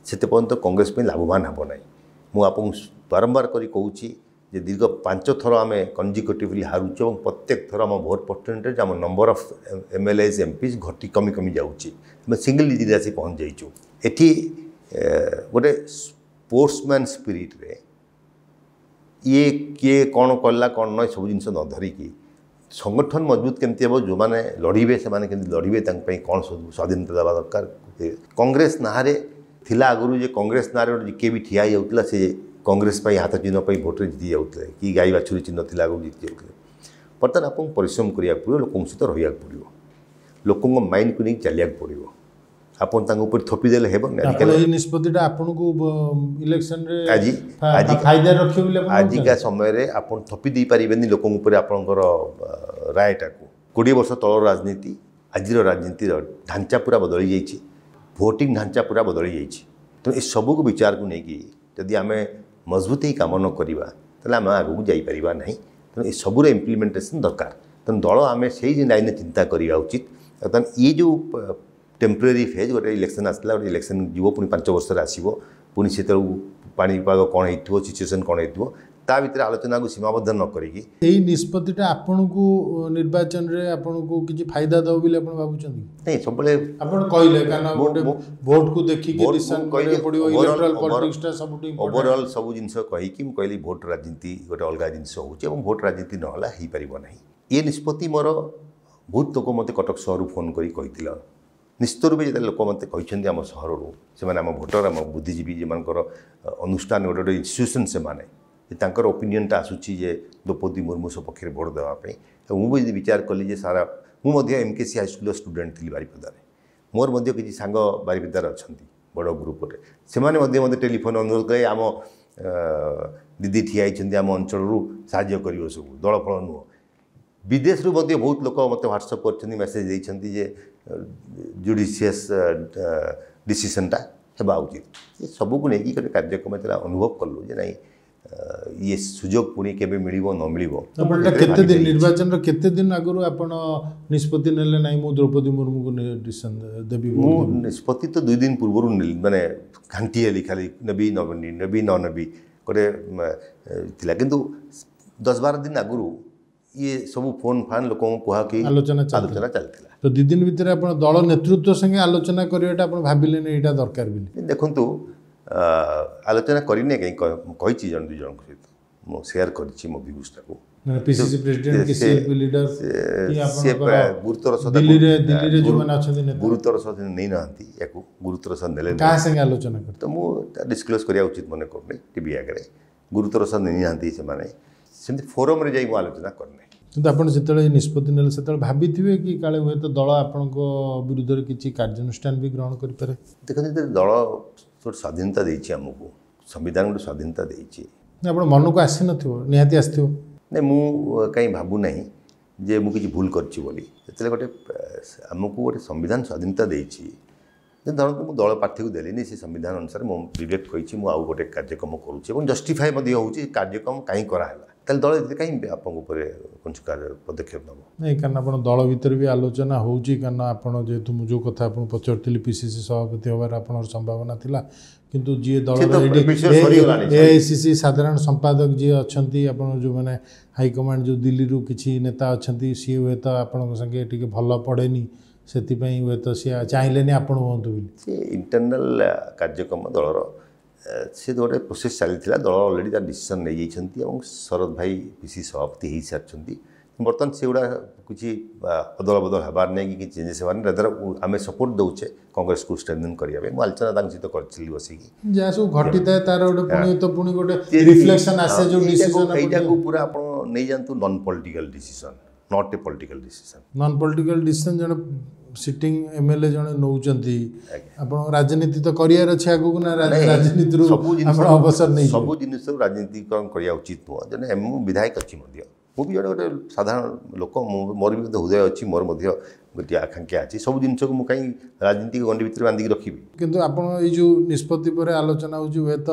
ସେତେ ପର୍ଯ୍ୟନ୍ତ କଂଗ୍ରେସ ପାଇଁ ଲାଭବାନ ହେବ ନାହିଁ। ମୁଁ ଆପଣଙ୍କୁ ବାରମ୍ବାର କରି କହୁଛି ଯେ ଦୀର୍ଘ 5 ଥର ଆମେ କନଜିକ୍ୟୁଟିଭଲି ହାରୁଛୁ ଏବଂ ପ୍ରତ୍ୟେକ ଥର ଆମ ଭୋଟ ପରସେଣ୍ଟେଜ୍, ଆମ number of M L S M Ps ଘଟି କମି କମି ଯାଉଛି, ଆମେ ସିଙ୍ଗଲ ଡିଜିଟ୍ରେ ଆସି ପହଞ୍ଚି ଯାଇଛୁ। ଏଠି ଗୋଟେ ସ୍ପୋର୍ଟସମ୍ୟାନ୍ ସ୍ପିରିଟ୍ରେ ଇଏ କିଏ କ'ଣ କଲା କ'ଣ ନୁହେଁ ସବୁ ଜିନିଷ ନ ଧରିକି ସଂଗଠନ ମଜବୁତ କେମିତି ହେବ, ଯେଉଁମାନେ ଲଢ଼ିବେ ସେମାନେ କେମିତି ଲଢ଼ିବେ, ତାଙ୍କ ପାଇଁ କ'ଣ ସବୁ ସ୍ୱାଧୀନତା ଦେବା ଦରକାର। କଂଗ୍ରେସ ନାଁରେ ଥିଲା ଆଗରୁ ଯେ କଂଗ୍ରେସ ନାଁରେ ଗୋଟେ କିଏ ବି ଠିଆ ହେଇଯାଉଥିଲା ସେ କଂଗ୍ରେସ ପାଇଁ ହାତ ଚିହ୍ନ ପାଇଁ ଭୋଟରେ ଜିତି ଯାଉଥିଲେ, କି ଗାଈ ବାଛୁରୀ ଚିହ୍ନ ଥିଲା ଆଗରୁ ଜିତି ଯାଉଥିଲେ। ବର୍ତ୍ତମାନ ଆପଣଙ୍କୁ ପରିଶ୍ରମ କରିବାକୁ ପଡ଼ିବ, ଲୋକଙ୍କ ସହିତ ରହିବାକୁ ପଡ଼ିବ, ଲୋକଙ୍କ ମାଇଣ୍ଡକୁ ନେଇକି ଚାଲିବାକୁ ପଡ଼ିବ। ଆପଣ ତାଙ୍କ ଉପରେ ଥୋପି ଦେଲେ ହେବନି। ଆଜିକାଲି ଏଇ ନିଷ୍ପତ୍ତିଟା ଆପଣଙ୍କୁ ଇଲେକ୍ସନରେ ଆଜି ଆଜି ଫାଇଦା ରଖିବ ବୋଲି ଆଜିକା ସମୟରେ ଆପଣ ଥୋପି ଦେଇପାରିବେନି ଲୋକଙ୍କ ଉପରେ ଆପଣଙ୍କର ରାୟଟାକୁ। 20 ବର୍ଷ ତଳର ରାଜନୀତି ଆଜିର ରାଜନୀତିର ଢାଞ୍ଚା ପୁରା ବଦଳି ଯାଇଛି, ଭୋଟିଂ ଢାଞ୍ଚା ପୁରା ବଦଳି ଯାଇଛି। ତେଣୁ ଏସବୁକୁ ବିଚାରକୁ ନେଇକି ଯଦି ଆମେ ମଜବୁତ ହେଇ କାମ ନ କରିବା ତାହେଲେ ଆମେ ଆଗକୁ ଯାଇପାରିବା ନାହିଁ। ତେଣୁ ଏସବୁର ଇମ୍ପ୍ଲିମେଣ୍ଟେସନ୍ ଦରକାର। ତେଣୁ ଦଳ ଆମେ ସେଇ ଲାଇନ୍ରେ ଚିନ୍ତା କରିବା ଉଚିତ। ବର୍ତ୍ତମାନ ଇଏ ଯେଉଁ ଟେମ୍ପୋରାରୀ ଫେଜ୍, ଗୋଟେ ଇଲେକ୍ସନ୍ ଆସିଲା, ଗୋଟେ ଇଲେକ୍ସନ୍ ଯିବ, ପୁଣି 5 ବର୍ଷରେ ଆସିବ, ପୁଣି ସେତେବେଳକୁ ପାଣିପାଗ କ'ଣ ହେଇଥିବ, ସିଚୁଏସନ୍ କ'ଣ ହେଇଥିବ, ତା ଭିତରେ ଆଲୋଚନାକୁ ସୀମାବଦ୍ଧ ନ କରିକି ଏଇ ନିଷ୍ପତ୍ତିଟା ଆପଣଙ୍କୁ ନିର୍ବାଚନରେ ଆପଣଙ୍କୁ କିଛି ଫାଇଦା ଦେବ ବୋଲି ଆପଣ ଭାବୁଛନ୍ତି? ନାଇଁ, ସବୁବେଳେ ଆପଣ କହିଲେ କାରଣ ଗୋଟେ ଭୋଟକୁ ଦେଖିକି ଡିସିସନ୍ କରିବାକୁ ପଡ଼ିବ, ଇଲେକ୍ଟ୍ରାଲ ପଲିଟିକ୍ସଟା ସବୁଠୁ ଇମ୍ପୋର୍ଟାଣ୍ଟ। ଓଭରଅଲ୍ ସବୁ ଜିନିଷ କହିକି ମୁଁ କହିଲି ଭୋଟ ରାଜନୀତି ଗୋଟେ ଅଲଗା ଜିନିଷ ହେଉଛି ଏବଂ ଭୋଟ ରାଜନୀତି ନହେଲେ ହେଇପାରିବ ନାହିଁ। ଏ ନିଷ୍ପତ୍ତି ମୋର ବହୁତ ଲୋକ ମୋତେ କଟକ ସହରରୁ ଫୋନ୍ କରି କହିଥିଲା। ନିଶ୍ଚିତ ରୂପେ ଯେତେବେଳେ ଲୋକ ମୋତେ କହିଛନ୍ତି ଆମ ସହରରୁ, ସେମାନେ ଆମ ଭୋଟର, ଆମ ବୁଦ୍ଧିଜୀବୀ, ଯେଉଁମାନଙ୍କର ଅନୁଷ୍ଠାନ ଗୋଟେ ଗୋଟେ ଇନଷ୍ଟିଟ୍ୟୁସନ୍, ସେମାନେ ତାଙ୍କର ଓପିନିଅନ୍ଟା ଆସୁଛି ଯେ ଦ୍ରୌପଦୀ ମୁର୍ମୁ ସପକ୍ଷରେ ଭୋଟ ଦେବା ପାଇଁ। ମୁଁ ବି ଯଦି ବିଚାର କଲି ଯେ ସାରା, ମୁଁ ମଧ୍ୟ MKC ହାଇସ୍କୁଲର ଷ୍ଟୁଡେଣ୍ଟ ଥିଲି ବାରିପଦାରେ, ମୋର ମଧ୍ୟ କିଛି ସାଙ୍ଗ ବାରିପଦାରେ ଅଛନ୍ତି ବଡ଼ ଗ୍ରୁପରେ, ସେମାନେ ମଧ୍ୟ ମୋତେ ଟେଲିଫୋନ୍ ଅନୁରୋଧ କଲେ ଆମ ଦିଦି ଠିଆ ହେଇଛନ୍ତି ଆମ ଅଞ୍ଚଳରୁ, ସାହାଯ୍ୟ କରିବ, ସବୁ ଦଳ ଫଳ ନୁହଁ। ବିଦେଶରୁ ମଧ୍ୟ ବହୁତ ଲୋକ ମୋତେ ହ୍ୱାଟ୍ସଅପ୍ କରିଛନ୍ତି, ମେସେଜ୍ ଦେଇଛନ୍ତି ଯେ ଜୁଡ଼ିସିୟସ୍ ଡିସିସନ୍ଟା ହେବା ଉଚିତ। ଏ ସବୁକୁ ନେଇକି ଗୋଟେ କାର୍ଯ୍ୟକ୍ରମ ଯେତେବେଳେ ଅନୁଭବ କଲୁ ଯେ ନାଇଁ ଇଏ ସୁଯୋଗ ପୁଣି କେବେ ମିଳିବ ନ ମିଳିବ। ଆପଣ ଏଇଟା କେତେ ଦିନ ନିର୍ବାଚନର କେତେ ଦିନ ଆଗରୁ ଆପଣ ନିଷ୍ପତ୍ତି ନେଲେ ନାଇଁ ମୁଁ ଦ୍ରୌପଦୀ ମୁର୍ମୁକୁ ଡିସିସନ୍ ଦେବି? ମୁଁ ନିଷ୍ପତ୍ତି ତ 2 ଦିନ ପୂର୍ବରୁ ନେଲି, ମାନେ ଘାଣ୍ଟି ହେଲି ଖାଲି ନେବି ନ ନେବି ନ ନେବି ଗୋଟେ ଥିଲା, କିନ୍ତୁ 10-12 ଦିନ ଆଗରୁ ଇଏ ସବୁ ଫୋନ୍ ଫାନ୍ ଲୋକଙ୍କୁ କୁହା କି ଆଲୋଚନା ଚାଲିଥିଲା। ତ 2 ଦିନ ଭିତରେ ଆପଣ ଦଳ ନେତୃତ୍ୱ ସାଙ୍ଗେ ଆଲୋଚନା କରିବାଟା ଆପଣ ଭାବିଲେନି ଏଇଟା ଦରକାର ବୋଲି? ଦେଖନ୍ତୁ, ଆଲୋଚନା କରିନି କାହିଁ, କହିଛି ଜଣେ 2 ଜଣଙ୍କ ସହିତ ମୁଁ ସେୟାର କରିଛି ମୋ ଭ୍ୟୁଜଟାକୁ। ପିସିସି ପ୍ରେସିଡେଣ୍ଟ କି ସିଏଲପି ଲିଡର ସେ ଗୁରୁତର ସହ ଦିଲ୍ଲୀରେ ଯେଉଁମାନେ ଅଛନ୍ତି ଗୁରୁତର ସହ ନେଇନାହାନ୍ତି, ୟାକୁ ଗୁରୁତର ସହ ନେଲେ। କାହା ସାଙ୍ଗେ ଆଲୋଚନା କରି ତ ମୁଁ ଡିସକ୍ଲୋଜ୍ କରିବା ଉଚିତ ମନେ କରୁନି ଟିଭି ଆଗରେ। ଗୁରୁତର ସହ ନେଇନାହାନ୍ତି ସେମାନେ, ସେମିତି ଫୋରମ୍ରେ ଯାଇ ମୁଁ ଆଲୋଚନା କରିନି। କିନ୍ତୁ ଆପଣ ଯେତେବେଳେ ନିଷ୍ପତ୍ତି ନେଲେ ସେତେବେଳେ ଭାବିଥିବେ କି କାଳେ ହୁଏତ ଦଳ ଆପଣଙ୍କ ବିରୁଦ୍ଧରେ କିଛି କାର୍ଯ୍ୟାନୁଷ୍ଠାନ ବି ଗ୍ରହଣ କରିପାରେ? ଦେଖନ୍ତୁ, ଯେତେବେଳେ ଦଳ ଗୋଟେ ସ୍ୱାଧୀନତା ଦେଇଛି ଆମକୁ, ସମ୍ବିଧାନ ଗୋଟେ ସ୍ୱାଧୀନତା ଦେଇଛି, ଆପଣ ମନକୁ ଆସିନଥିବ? ନିହାତି ଆସିଥିବ। ନାଇଁ, ମୁଁ କାହିଁ ଭାବୁନାହିଁ ଯେ ମୁଁ କିଛି ଭୁଲ କରିଛି ବୋଲି। ଯେତେବେଳେ ଗୋଟେ ଆମକୁ ଗୋଟେ ସମ୍ବିଧାନ ସ୍ୱାଧୀନତା ଦେଇଛି, ଧରନ୍ତୁ ମୁଁ ଦଳ ପ୍ରାର୍ଥୀକୁ ଦେଲିନି, ସେ ସମ୍ବିଧାନ ଅନୁସାରେ ମୋ ବିବେକ କହିଛି ମୁଁ ଆଉ ଗୋଟେ କାର୍ଯ୍ୟକ୍ରମ କରୁଛି ଏବଂ ଜଷ୍ଟିଫାଏ ମଧ୍ୟ ହେଉଛି କାର୍ଯ୍ୟକ୍ରମ କାହିଁ କରାହେଲା, ତାହେଲେ ଦଳ ଏଥିରେ କାହିଁ ଆପଣଙ୍କ ଉପରେ କୌଣସି ପଦକ୍ଷେପ ନେବ? ନାଇଁ, କାରଣ ଆପଣ ଦଳ ଭିତରେ ବି ଆଲୋଚନା ହେଉଛି, କାରଣ ଆପଣ ଯେହେତୁ ମୁଁ ଯେଉଁ କଥା ଆପଣଙ୍କୁ ପଚାରୁଥିଲି ପିସିସି ସଭାପତି ହେବାର ଆପଣଙ୍କର ସମ୍ଭାବନା ଥିଲା, କିନ୍ତୁ ଯିଏ ଦଳର AICC ସାଧାରଣ ସମ୍ପାଦକ ଯିଏ ଅଛନ୍ତି, ଆପଣ ଯେଉଁମାନେ ହାଇକମାଣ୍ଡ ଯେଉଁ ଦିଲ୍ଲୀରୁ କିଛି ନେତା ଅଛନ୍ତି, ସିଏ ହୁଏତ ଆପଣଙ୍କ ସାଙ୍ଗେ ଟିକେ ଭଲ ପଡ଼େନି, ସେଥିପାଇଁ ହୁଏତ ସିଏ ଚାହିଁଲେନି ଆପଣ ହୁଅନ୍ତୁ ବୋଲି। ସେ ଇଣ୍ଟରନାଲ୍ କାର୍ଯ୍ୟକ୍ରମ ଦଳର ସେ ଗୋଟେ ପ୍ରୋସେସ୍ ଚାଲିଥିଲା, ଦଳ ଅଲରେଡ଼ି ତାର ଡିସିସନ୍ ନେଇଯାଇଛନ୍ତି ଏବଂ ଶରଦ ଭାଇ ପିସି ସଭାପତି ହେଇସାରିଛନ୍ତି। ବର୍ତ୍ତମାନ ସେଗୁଡ଼ା କିଛି ଅଦଳ ବଦଳ ହେବାର ନାହିଁ କି କିଛି ଚେଞ୍ଜେସ୍ ହେବାର ନାହିଁ, ରାଦର ଆମେ ସପୋର୍ଟ ଦେଉଛେ କଂଗ୍ରେସକୁ ଷ୍ଟ୍ରେନ୍ଥେନ୍ କରିବା ପାଇଁ। ମୁଁ ଆଲୋଚନା ତାଙ୍କ ସହିତ କରିଥିଲି ବସିକି। ଯାହା ସବୁ ଘଟିଥାଏ ତାର ଗୋଟେ ପୁଣି ତ ପୁଣି ଗୋଟେ ରିଫ୍ଲେକ୍ସନ୍ ଆସେ ଯେଉଁ ଡିସିସନ୍। ଏଇଟାକୁ ପୁରା ଆପଣ ନେଇଯାଆନ୍ତୁ non political decision, not a political decision. Non political decision ଜଣେ ସିଟିଂ MLA ଜଣେ ନେଉଛନ୍ତି, ଆପଣ ରାଜନୀତି ତ କରିବାର ଅଛି ଆଗକୁ ନା ରାଜନୀତିରୁ ଆପଣ ଅବସର ନେଇ? ସବୁ ଜିନିଷରୁ ରାଜନୀତିକରଣ କରିବା ଉଚିତ ନୁହଁ। ଜଣେ ମୁଁ ବିଧାୟକ ଅଛି ମଧ୍ୟ, ମୁଁ ବି ଜଣେ ଗୋଟେ ସାଧାରଣ ଲୋକ, ମୁଁ ମୋର ବି ମଧ୍ୟ ହୃଦୟ ଅଛି, ମୋର ମଧ୍ୟ ଗୋଟିଏ ଆକାଂକ୍ଷା ଅଛି। ସବୁ ଜିନିଷକୁ ମୁଁ କାହିଁ ରାଜନୀତିକ ଗଣ୍ଡି ଭିତରେ ବାନ୍ଧିକି ରଖିବି? କିନ୍ତୁ ଆପଣ ଏଇ ଯେଉଁ ନିଷ୍ପତ୍ତି ପରେ ଆଲୋଚନା ହେଉଛି ହୁଏତ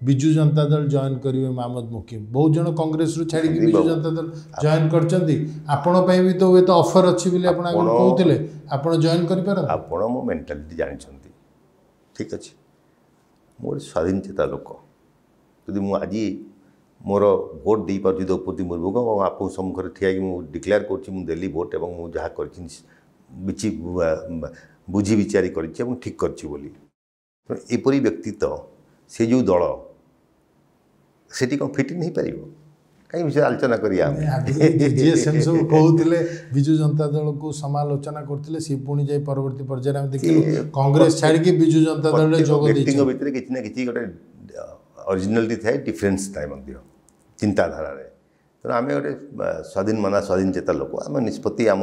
ବିଜୁ ଜନତା ଦଳ ଜଏନ୍ କରିବେ ମହମ୍ମଦ ମୁକିମ, ବହୁତ ଜଣ କଂଗ୍ରେସରୁ ଛାଡ଼ିକି ବିଜୁ ଜନତା ଦଳ ଜଏନ୍ କରିଛନ୍ତି, ଆପଣ ପାଇଁ ବି ତ ହୁଏତ ଅଫର୍ ଅଛି ବୋଲି ଆପଣ ଆଗରୁ କହୁଥିଲେ, ଆପଣ ଜଏନ୍ କରିପାରନ୍ତି? ଆପଣ ମୋ ମେଣ୍ଟାଲିଟି ଜାଣିଛନ୍ତି, ଠିକ୍ ଅଛି। ମୁଁ ଗୋଟେ ସ୍ୱାଧୀନ ଚେତା ଲୋକ, ଯଦି ମୁଁ ଆଜି ମୋର ଭୋଟ ଦେଇପାରୁଛି ଦ୍ରୌପଦୀ ମୁର୍ମୁଙ୍କୁ ଏବଂ ଆପଣଙ୍କ ସମ୍ମୁଖରେ ଠିଆ ହେଇକି ମୁଁ ଡିକ୍ଲେୟାର କରୁଛି ମୁଁ ଦେଲି ଭୋଟ ଏବଂ ମୁଁ ଯାହା କରିଛି ବୁଝି ବିଚାରି କରିଛି ଏବଂ ଠିକ୍ କରିଛି ବୋଲି, ତେଣୁ ଏପରି ବ୍ୟକ୍ତି ତ ସେ ଯେଉଁ ଦଳ ସେଠି କ'ଣ ଫିଟ୍ ଇନ୍ ହେଇପାରିବ? କାହିଁ ବିଷୟରେ ଆଲୋଚନା କରିବା ଆମେ? ଯିଏ ସେମିତି ସବୁ କହୁଥିଲେ ବିଜୁ ଜନତା ଦଳକୁ ସମାଲୋଚନା କରୁଥିଲେ, ସିଏ ପୁଣି ଯାଇ ପରବର୍ତ୍ତୀ ପର୍ଯ୍ୟାୟରେ ଆମେ ଦେଖିଲୁ କଂଗ୍ରେସ ଛାଡ଼ିକି ବିଜୁ ଜନତା ଦଳରେ ଯୋଗ ବ୍ୟକ୍ତିଙ୍କ ଭିତରେ କିଛି ନା କିଛି ଗୋଟେ ଅରିଜିନାଲିଟି ଥାଏ, ଡିଫରେନ୍ସ ଥାଏ ମଧ୍ୟ ଚିନ୍ତାଧାରାରେ। ତେଣୁ ଆମେ ଗୋଟେ ସ୍ୱାଧୀନ ମନା ସ୍ୱାଧୀନ ଚେତା ଲୋକ, ଆମ ନିଷ୍ପତ୍ତି ଆମ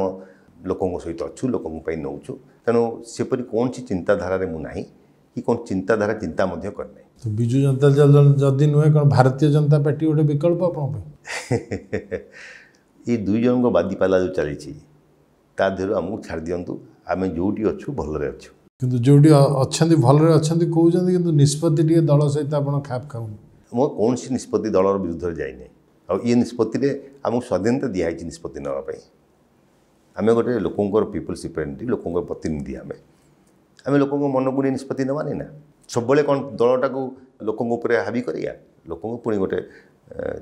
ଲୋକଙ୍କ ସହିତ ଅଛୁ, ଲୋକଙ୍କ ପାଇଁ ନେଉଛୁ। ତେଣୁ ସେପରି କୌଣସି ଚିନ୍ତାଧାରାରେ ମୁଁ ନାହିଁ କି କୌଣସି ଚିନ୍ତାଧାରା ଚିନ୍ତା ମଧ୍ୟ କରିନାହିଁ। ତ ବିଜୁ ଜନତା ଦଳ ଯଦି ନୁହେଁ, କ'ଣ ଭାରତୀୟ ଜନତା ପାର୍ଟି ଗୋଟେ ବିକଳ୍ପ ଆପଣଙ୍କ ପାଇଁ? ଏ 2 ଜଣଙ୍କ ବାଦିପାଲା ଯେଉଁ ଚାଲିଛି ତା ଦେହରୁ ଆମକୁ ଛାଡ଼ି ଦିଅନ୍ତୁ, ଆମେ ଯେଉଁଠି ଅଛୁ ଭଲରେ ଅଛୁ। କିନ୍ତୁ ଯେଉଁଠି ଅଛନ୍ତି ଭଲରେ ଅଛନ୍ତି କହୁଛନ୍ତି, କିନ୍ତୁ ନିଷ୍ପତ୍ତି ଟିକେ ଦଳ ସହିତ ଆପଣ ଖାପ ଖାଉନି। ମୋ କୌଣସି ନିଷ୍ପତ୍ତି ଦଳର ବିରୁଦ୍ଧରେ ଯାଇନି, ଆଉ ଇଏ ନିଷ୍ପତ୍ତିରେ ଆମକୁ ସ୍ୱାଧୀନତା ଦିଆହେଇଛି ନିଷ୍ପତ୍ତି ନେବା ପାଇଁ। ଆମେ ଗୋଟେ ଲୋକଙ୍କର ପିପୁଲ୍ସ ରିପ୍ରେଜେଣ୍ଟେଟିଭ୍, ଲୋକଙ୍କର ପ୍ରତିନିଧି ଆମେ। ଆମେ ଲୋକଙ୍କ ମନକୁ ନେଇ ନିଷ୍ପତ୍ତି ନେବାନି ନା। ସବୁବେଳେ କ'ଣ ଦଳଟାକୁ ଲୋକଙ୍କ ଉପରେ ହାବି କରିବା? ଲୋକଙ୍କୁ ପୁଣି ଗୋଟେ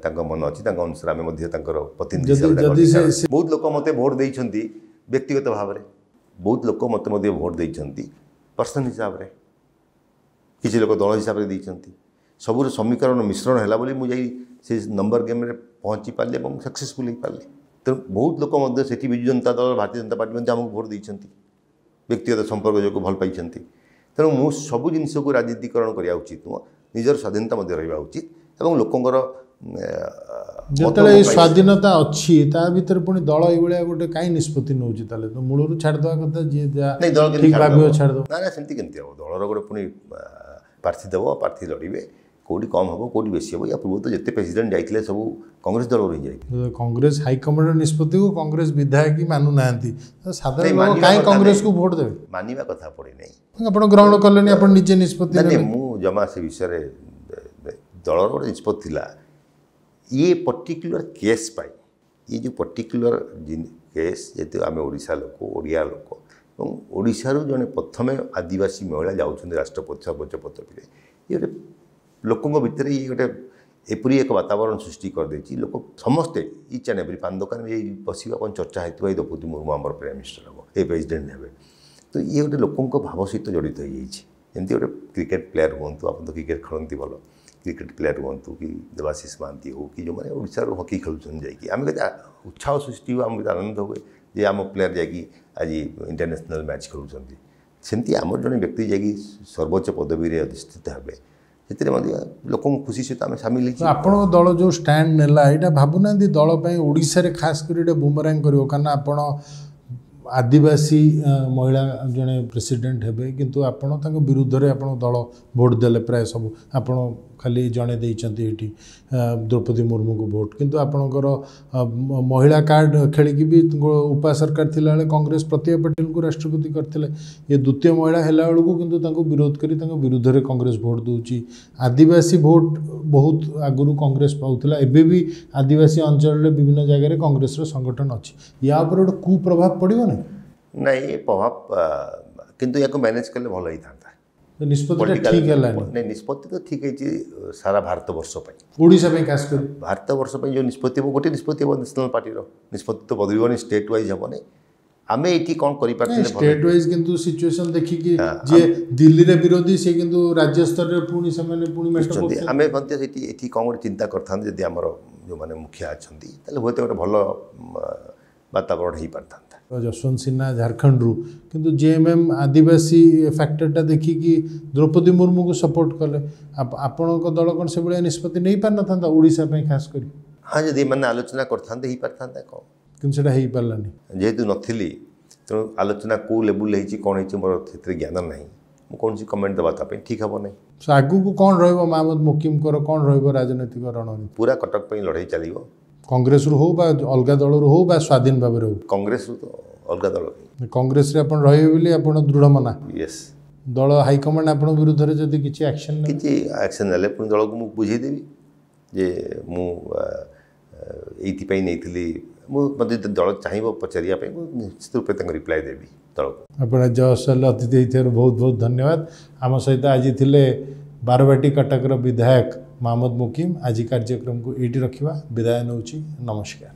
ତାଙ୍କ ମନ ଅଛି, ତାଙ୍କ ଅନୁସାରେ ଆମେ ମଧ୍ୟ ତାଙ୍କର ପ୍ରତିନିଧି ହିସାବରେ। ବହୁତ ଲୋକ ମୋତେ ଭୋଟ ଦେଇଛନ୍ତି ବ୍ୟକ୍ତିଗତ ଭାବରେ, ବହୁତ ଲୋକ ମୋତେ ମଧ୍ୟ ଭୋଟ ଦେଇଛନ୍ତି ପର୍ସନ ହିସାବରେ, କିଛି ଲୋକ ଦଳ ହିସାବରେ ଦେଇଛନ୍ତି। ସବୁର ସମୀକରଣ ମିଶ୍ରଣ ହେଲା ବୋଲି ମୁଁ ଯାଇ ସେ ନମ୍ବର ଗେମ୍ରେ ପହଞ୍ଚି ପାରିଲି ଏବଂ ସକ୍ସେସଫୁଲ୍ ହେଇପାରିଲି। ତେଣୁ ବହୁତ ଲୋକ ମଧ୍ୟ ସେଠି ବିଜୁ ଜନତା ଦଳ, ଭାରତୀୟ ଜନତା ପାର୍ଟି ମଧ୍ୟ ଆମକୁ ଭୋଟ ଦେଇଛନ୍ତି, ବ୍ୟକ୍ତିଗତ ସମ୍ପର୍କ ଯୋଗୁଁ ଭଲ ପାଇଛନ୍ତି। ତେଣୁ ମୁଁ ସବୁ ଜିନିଷକୁ ରାଜନୀତିକରଣ କରିବା ଉଚିତ ନୁହଁ, ନିଜର ସ୍ୱାଧୀନତା ମଧ୍ୟ ରହିବା ଉଚିତ ଏବଂ ଲୋକଙ୍କର ଯେତେବେଳେ ଏଇ ସ୍ୱାଧୀନତା ଅଛି ତା ଭିତରେ ପୁଣି ଦଳ ଏଇଭଳିଆ ଗୋଟେ କାହିଁ ନିଷ୍ପତ୍ତି ନେଉଛି? ତାହେଲେ ତ ମୂଳରୁ ଛାଡ଼ିଦେବା କଥା, ଯିଏ ଯାହା ଠିକ୍ ଭାବିବ ଛାଡ଼ିଦେବ। ନା ନା, ସେମିତି କେମିତି ହେବ? ଦଳର ଗୋଟେ ପୁଣି ପ୍ରାର୍ଥୀ ଦେବ, ପ୍ରାର୍ଥୀ ଲଢ଼ିବେ, କେଉଁଠି କମ୍ ହେବ କେଉଁଠି ବେଶୀ ହେବ। ୟା ପୂର୍ବରୁ ତ ଯେତେ ପ୍ରେସିଡେଣ୍ଟ ଯାଇଥିଲେ ସବୁ କଂଗ୍ରେସ ଦଳରୁ ହିଁ ଯାଇଥିଲେ। କଂଗ୍ରେସ ହାଇକମାଣ୍ଡର ନିଷ୍ପତ୍ତିକୁ କଂଗ୍ରେସ ବିଧାୟକ ମାନୁନାହାନ୍ତି, ସାଧାରଣ ଲୋକ କାହିଁ କଂଗ୍ରେସକୁ ଭୋଟ ଦେବେ? ମାନିବା କଥା ପଡ଼ିନାହିଁ। ଆପଣ ଗ୍ରହଣ କଲେନି, ଆପଣ ନିଜେ ନିଷ୍ପତ୍ତି। ମୁଁ ଜମା ସେ ବିଷୟରେ, ଦଳର ଗୋଟେ ନିଷ୍ପତ୍ତି ଥିଲା ଇଏ ପର୍ଟିକୁଲାର କେସ୍ ପାଇଁ, ଇଏ ଯେଉଁ ପର୍ଟିକୁଲାର କେସ୍, ଯେହେତୁ ଆମେ ଓଡ଼ିଶା ଲୋକ, ଓଡ଼ିଆ ଲୋକ ଏବଂ ଓଡ଼ିଶାରୁ ଜଣେ ପ୍ରଥମେ ଆଦିବାସୀ ମହିଳା ଯାଉଛନ୍ତି ରାଷ୍ଟ୍ରପତି ସର୍ବୋଚ୍ଚ ପଦବୀରେ, ଇଏ ଗୋଟେ ଲୋକଙ୍କ ଭିତରେ ଇଏ ଗୋଟେ ଏପରି ଏକ ବାତାବରଣ ସୃଷ୍ଟି କରିଦେଇଛି। ଲୋକ ସମସ୍ତେ ଇଚ୍ ଆଣ୍ଡ ଏଭ୍ରି ପାନ ଦୋକାନ ଏଇ ବସିବା କ'ଣ ଚର୍ଚ୍ଚା ହେଇଥିବ, ଏଇ ଦ୍ରୌପଦୀ ମୁର୍ମୁ ଆମର ପ୍ରାଇମ୍ ମିନିଷ୍ଟର ହେବ, ଏ ପ୍ରେସିଡେଣ୍ଟ ହେବେ। ତ ଇଏ ଗୋଟେ ଲୋକଙ୍କ ଭାବ ସହିତ ଜଡ଼ିତ ହେଇଯାଇଛି। ଏମିତି ଗୋଟେ କ୍ରିକେଟ୍ ପ୍ଲେୟାର ହୁଅନ୍ତୁ, ଆପଣ ତ କ୍ରିକେଟ୍ ଖେଳନ୍ତି ଭଲ, କ୍ରିକେଟ୍ ପ୍ଲେୟାର ହୁଅନ୍ତୁ କି ଦେବାଶିଷ ମହାନ୍ତି ହଉ କି ଯେଉଁମାନେ ଓଡ଼ିଶାରୁ ହକି ଖେଳୁଛନ୍ତି ଯାଇକି, ଆମେ କେତେ ଉତ୍ସାହ ସୃଷ୍ଟି ହୁଏ, ଆମକୁ କେତେ ଆନନ୍ଦ ହୁଏ ଯେ ଆମ ପ୍ଲେୟାର ଯାଇକି ଆଜି ଇଣ୍ଟରନ୍ୟାସନାଲ୍ ମ୍ୟାଚ୍ ଖେଳୁଛନ୍ତି। ସେମିତି ଆମର ଜଣେ ବ୍ୟକ୍ତି ଯାଇକି ସର୍ବୋଚ୍ଚ ପଦବୀରେ ଅଧିଷ୍ଠିତ ହେବେ, ସେଥିରେ ମଧ୍ୟ ଲୋକଙ୍କ ଖୁସି ସହିତ ଆମେ ସାମିଲ ହେଇଛୁ। ଆପଣଙ୍କ ଦଳ ଯେଉଁ ଷ୍ଟାଣ୍ଡ ନେଲା, ଏଇଟା ଭାବୁନାହାନ୍ତି ଦଳ ପାଇଁ ଓଡ଼ିଶାରେ ଖାସ କରି ଏଇଟା ବୁମରାଂ କରିବ? କାରଣ ଆପଣ ଆଦିବାସୀ ମହିଳା ଜଣେ ପ୍ରେସିଡେଣ୍ଟ ହେବେ, କିନ୍ତୁ ଆପଣ ତାଙ୍କ ବିରୁଦ୍ଧରେ ଆପଣଙ୍କ ଦଳ ଭୋଟ ଦେଲେ ପ୍ରାୟ ସବୁ। ଆପଣ ଖାଲି ଜଣେ ଦେଇଛନ୍ତି ଏଇଠି ଦ୍ରୌପଦୀ ମୁର୍ମୁଙ୍କୁ ଭୋଟ, କିନ୍ତୁ ଆପଣଙ୍କର ମହିଳା କାର୍ଡ଼ ଖେଳିକି ବି ଉପା ସରକାର ଥିଲାବେଳେ କଂଗ୍ରେସ ପ୍ରତିଭା ପଟେଲଙ୍କୁ ରାଷ୍ଟ୍ରପତି କରିଥିଲେ। ଇଏ ଦ୍ୱିତୀୟ ମହିଳା ହେଲା ବେଳକୁ କିନ୍ତୁ ତାଙ୍କୁ ବିରୋଧ କରି ତାଙ୍କ ବିରୁଦ୍ଧରେ କଂଗ୍ରେସ ଭୋଟ ଦେଉଛି। ଆଦିବାସୀ ଭୋଟ ବହୁତ ଆଗରୁ କଂଗ୍ରେସ ପାଉଥିଲା, ଏବେ ବି ଆଦିବାସୀ ଅଞ୍ଚଳରେ ବିଭିନ୍ନ ଜାଗାରେ କଂଗ୍ରେସର ସଂଗଠନ ଅଛି। ୟା ଉପରେ ଗୋଟେ କୁପ୍ରଭାବ ପଡ଼ିବ ନା? ନାଇଁ, ଏ ପ୍ରଭାବ କିନ୍ତୁ ୟାକୁ ମ୍ୟାନେଜ୍ କଲେ ଭଲ ହେଇଥାନ୍ତା। ନିଷ୍ପତ୍ତିଟା ଠିକ୍ ହେଲାନି। ନାଇଁ, ନିଷ୍ପତ୍ତି ତ ଠିକ୍ ହେଇଛି ସାରା ଭାରତବର୍ଷ ପାଇଁ, ଓଡ଼ିଶା ପାଇଁ ଖାସ କରି ଭାରତବର୍ଷ ପାଇଁ ଯେଉଁ ନିଷ୍ପତ୍ତି ହେବ, ଗୋଟେ ନିଷ୍ପତ୍ତି ହେବ ନ୍ୟାସନାଲ୍ ପାର୍ଟିର ନିଷ୍ପତ୍ତି ତ ବଦଳିବନି, ଷ୍ଟେଟ୍ ୱାଇଜ୍ ହେବନି। ଆମେ ଏଇଠି କ'ଣ କରିପାରିଥିଲେ ଷ୍ଟେଟ୍ ୱାଇଜ୍, କିନ୍ତୁ ସିଚୁଏସନ୍ ଦେଖିକି ଯିଏ ଦିଲ୍ଲୀରେ ବିରୋଧୀ ସେ କିନ୍ତୁ ରାଜ୍ୟ ସ୍ତରରେ ପୁଣି ସେମାନେ ପୁଣି ମେଣ୍ଟ କରୁଛନ୍ତି। ଆମେ ମଧ୍ୟ ସେଠି ଏଠି କ'ଣ ଗୋଟେ ଚିନ୍ତା କରିଥାନ୍ତେ ଯଦି ଆମର ଯେଉଁମାନେ ମୁଖିଆ ଅଛନ୍ତି, ତାହେଲେ ହୁଏତ ଗୋଟେ ଭଲ ବାତାବରଣ ହେଇପାରିଥାନ୍ତା। ଯଶବନ୍ତ ସିହ୍ନା ଝାଡ଼ଖଣ୍ଡରୁ କିନ୍ତୁ ଜେଏମ୍ଏମ୍ ଆଦିବାସୀ ଫ୍ୟାକ୍ଟରଟା ଦେଖିକି ଦ୍ରୌପଦୀ ମୁର୍ମୁଙ୍କୁ ସପୋର୍ଟ କଲେ। ଆପଣଙ୍କ ଦଳ କ'ଣ ସେଭଳିଆ ନିଷ୍ପତ୍ତି ନେଇପାରିନଥାନ୍ତା ଓଡ଼ିଶା ପାଇଁ ଖାସ କରି? ହଁ, ଯଦି ଏମାନେ ଆଲୋଚନା କରିଥାନ୍ତେ ହେଇପାରିଥାନ୍ତା କ'ଣ, କିନ୍ତୁ ସେଇଟା ହେଇପାରିଲାନି। ଯେହେତୁ ନଥିଲି, ତେଣୁ ଆଲୋଚନା କେଉଁ ଲେବୁଲ୍ ହେଇଛି କ'ଣ ହେଇଛି ମୋର ସେଥିରେ ଜ୍ଞାନ ନାହିଁ, ମୁଁ କୌଣସି କମେଣ୍ଟ ଦେବା ତା ପାଇଁ ଠିକ୍ ହେବ ନାହିଁ। ଆଗକୁ କ'ଣ ରହିବ ମହମ୍ମଦ ମୁକିମଙ୍କର, କ'ଣ ରହିବ ରାଜନୈତିକ ରଣନୀତି? ପୁରା କଟକ ପାଇଁ ଲଢ଼େଇ ଚାଲିବ, କଂଗ୍ରେସରୁ ହଉ ବା ଅଲଗା ଦଳରୁ ହଉ ବା ସ୍ୱାଧୀନ ଭାବରେ ହଉ। କଂଗ୍ରେସରୁ ତ ଅଲଗା ଦଳ, କଂଗ୍ରେସରେ ଆପଣ ରହିବେ ବୋଲି ଆପଣ ଦୃଢ଼ ମନା? ୟେସ୍। ଦଳ ହାଇକମାଣ୍ଡ ଆପଣଙ୍କ ବିରୁଦ୍ଧରେ ଯଦି କିଛି ଆକ୍ସନ୍ କିଛି ଆକ୍ସନ୍ ନେଲେ ପୁଣି ଦଳକୁ ମୁଁ ବୁଝେଇଦେବି ଯେ ମୁଁ ଏଇଥିପାଇଁ ନେଇଥିଲି। ମୁଁ ମୋତେ ଯଦି ଦଳ ଚାହିଁବ ପଚାରିବା ପାଇଁ, ମୁଁ ନିଶ୍ଚିତ ରୂପେ ତାଙ୍କୁ ରିପ୍ଲାଏ ଦେବି ଦଳକୁ। ଆପଣ ଜୟସଲ ଅତିଥି ହେଇଥିବାରୁ ବହୁତ ବହୁତ ଧନ୍ୟବାଦ। ଆମ ସହିତ ଆଜି ଥିଲେ ବାରବାଟୀ କଟକର ବିଧାୟକ ମହମ୍ମଦ ମୁକିମ। ଆଜି କାର୍ଯ୍ୟକ୍ରମକୁ ଏଇଠି ରଖିବା, ବିଦାୟ ନେଉଛି, ନମସ୍କାର।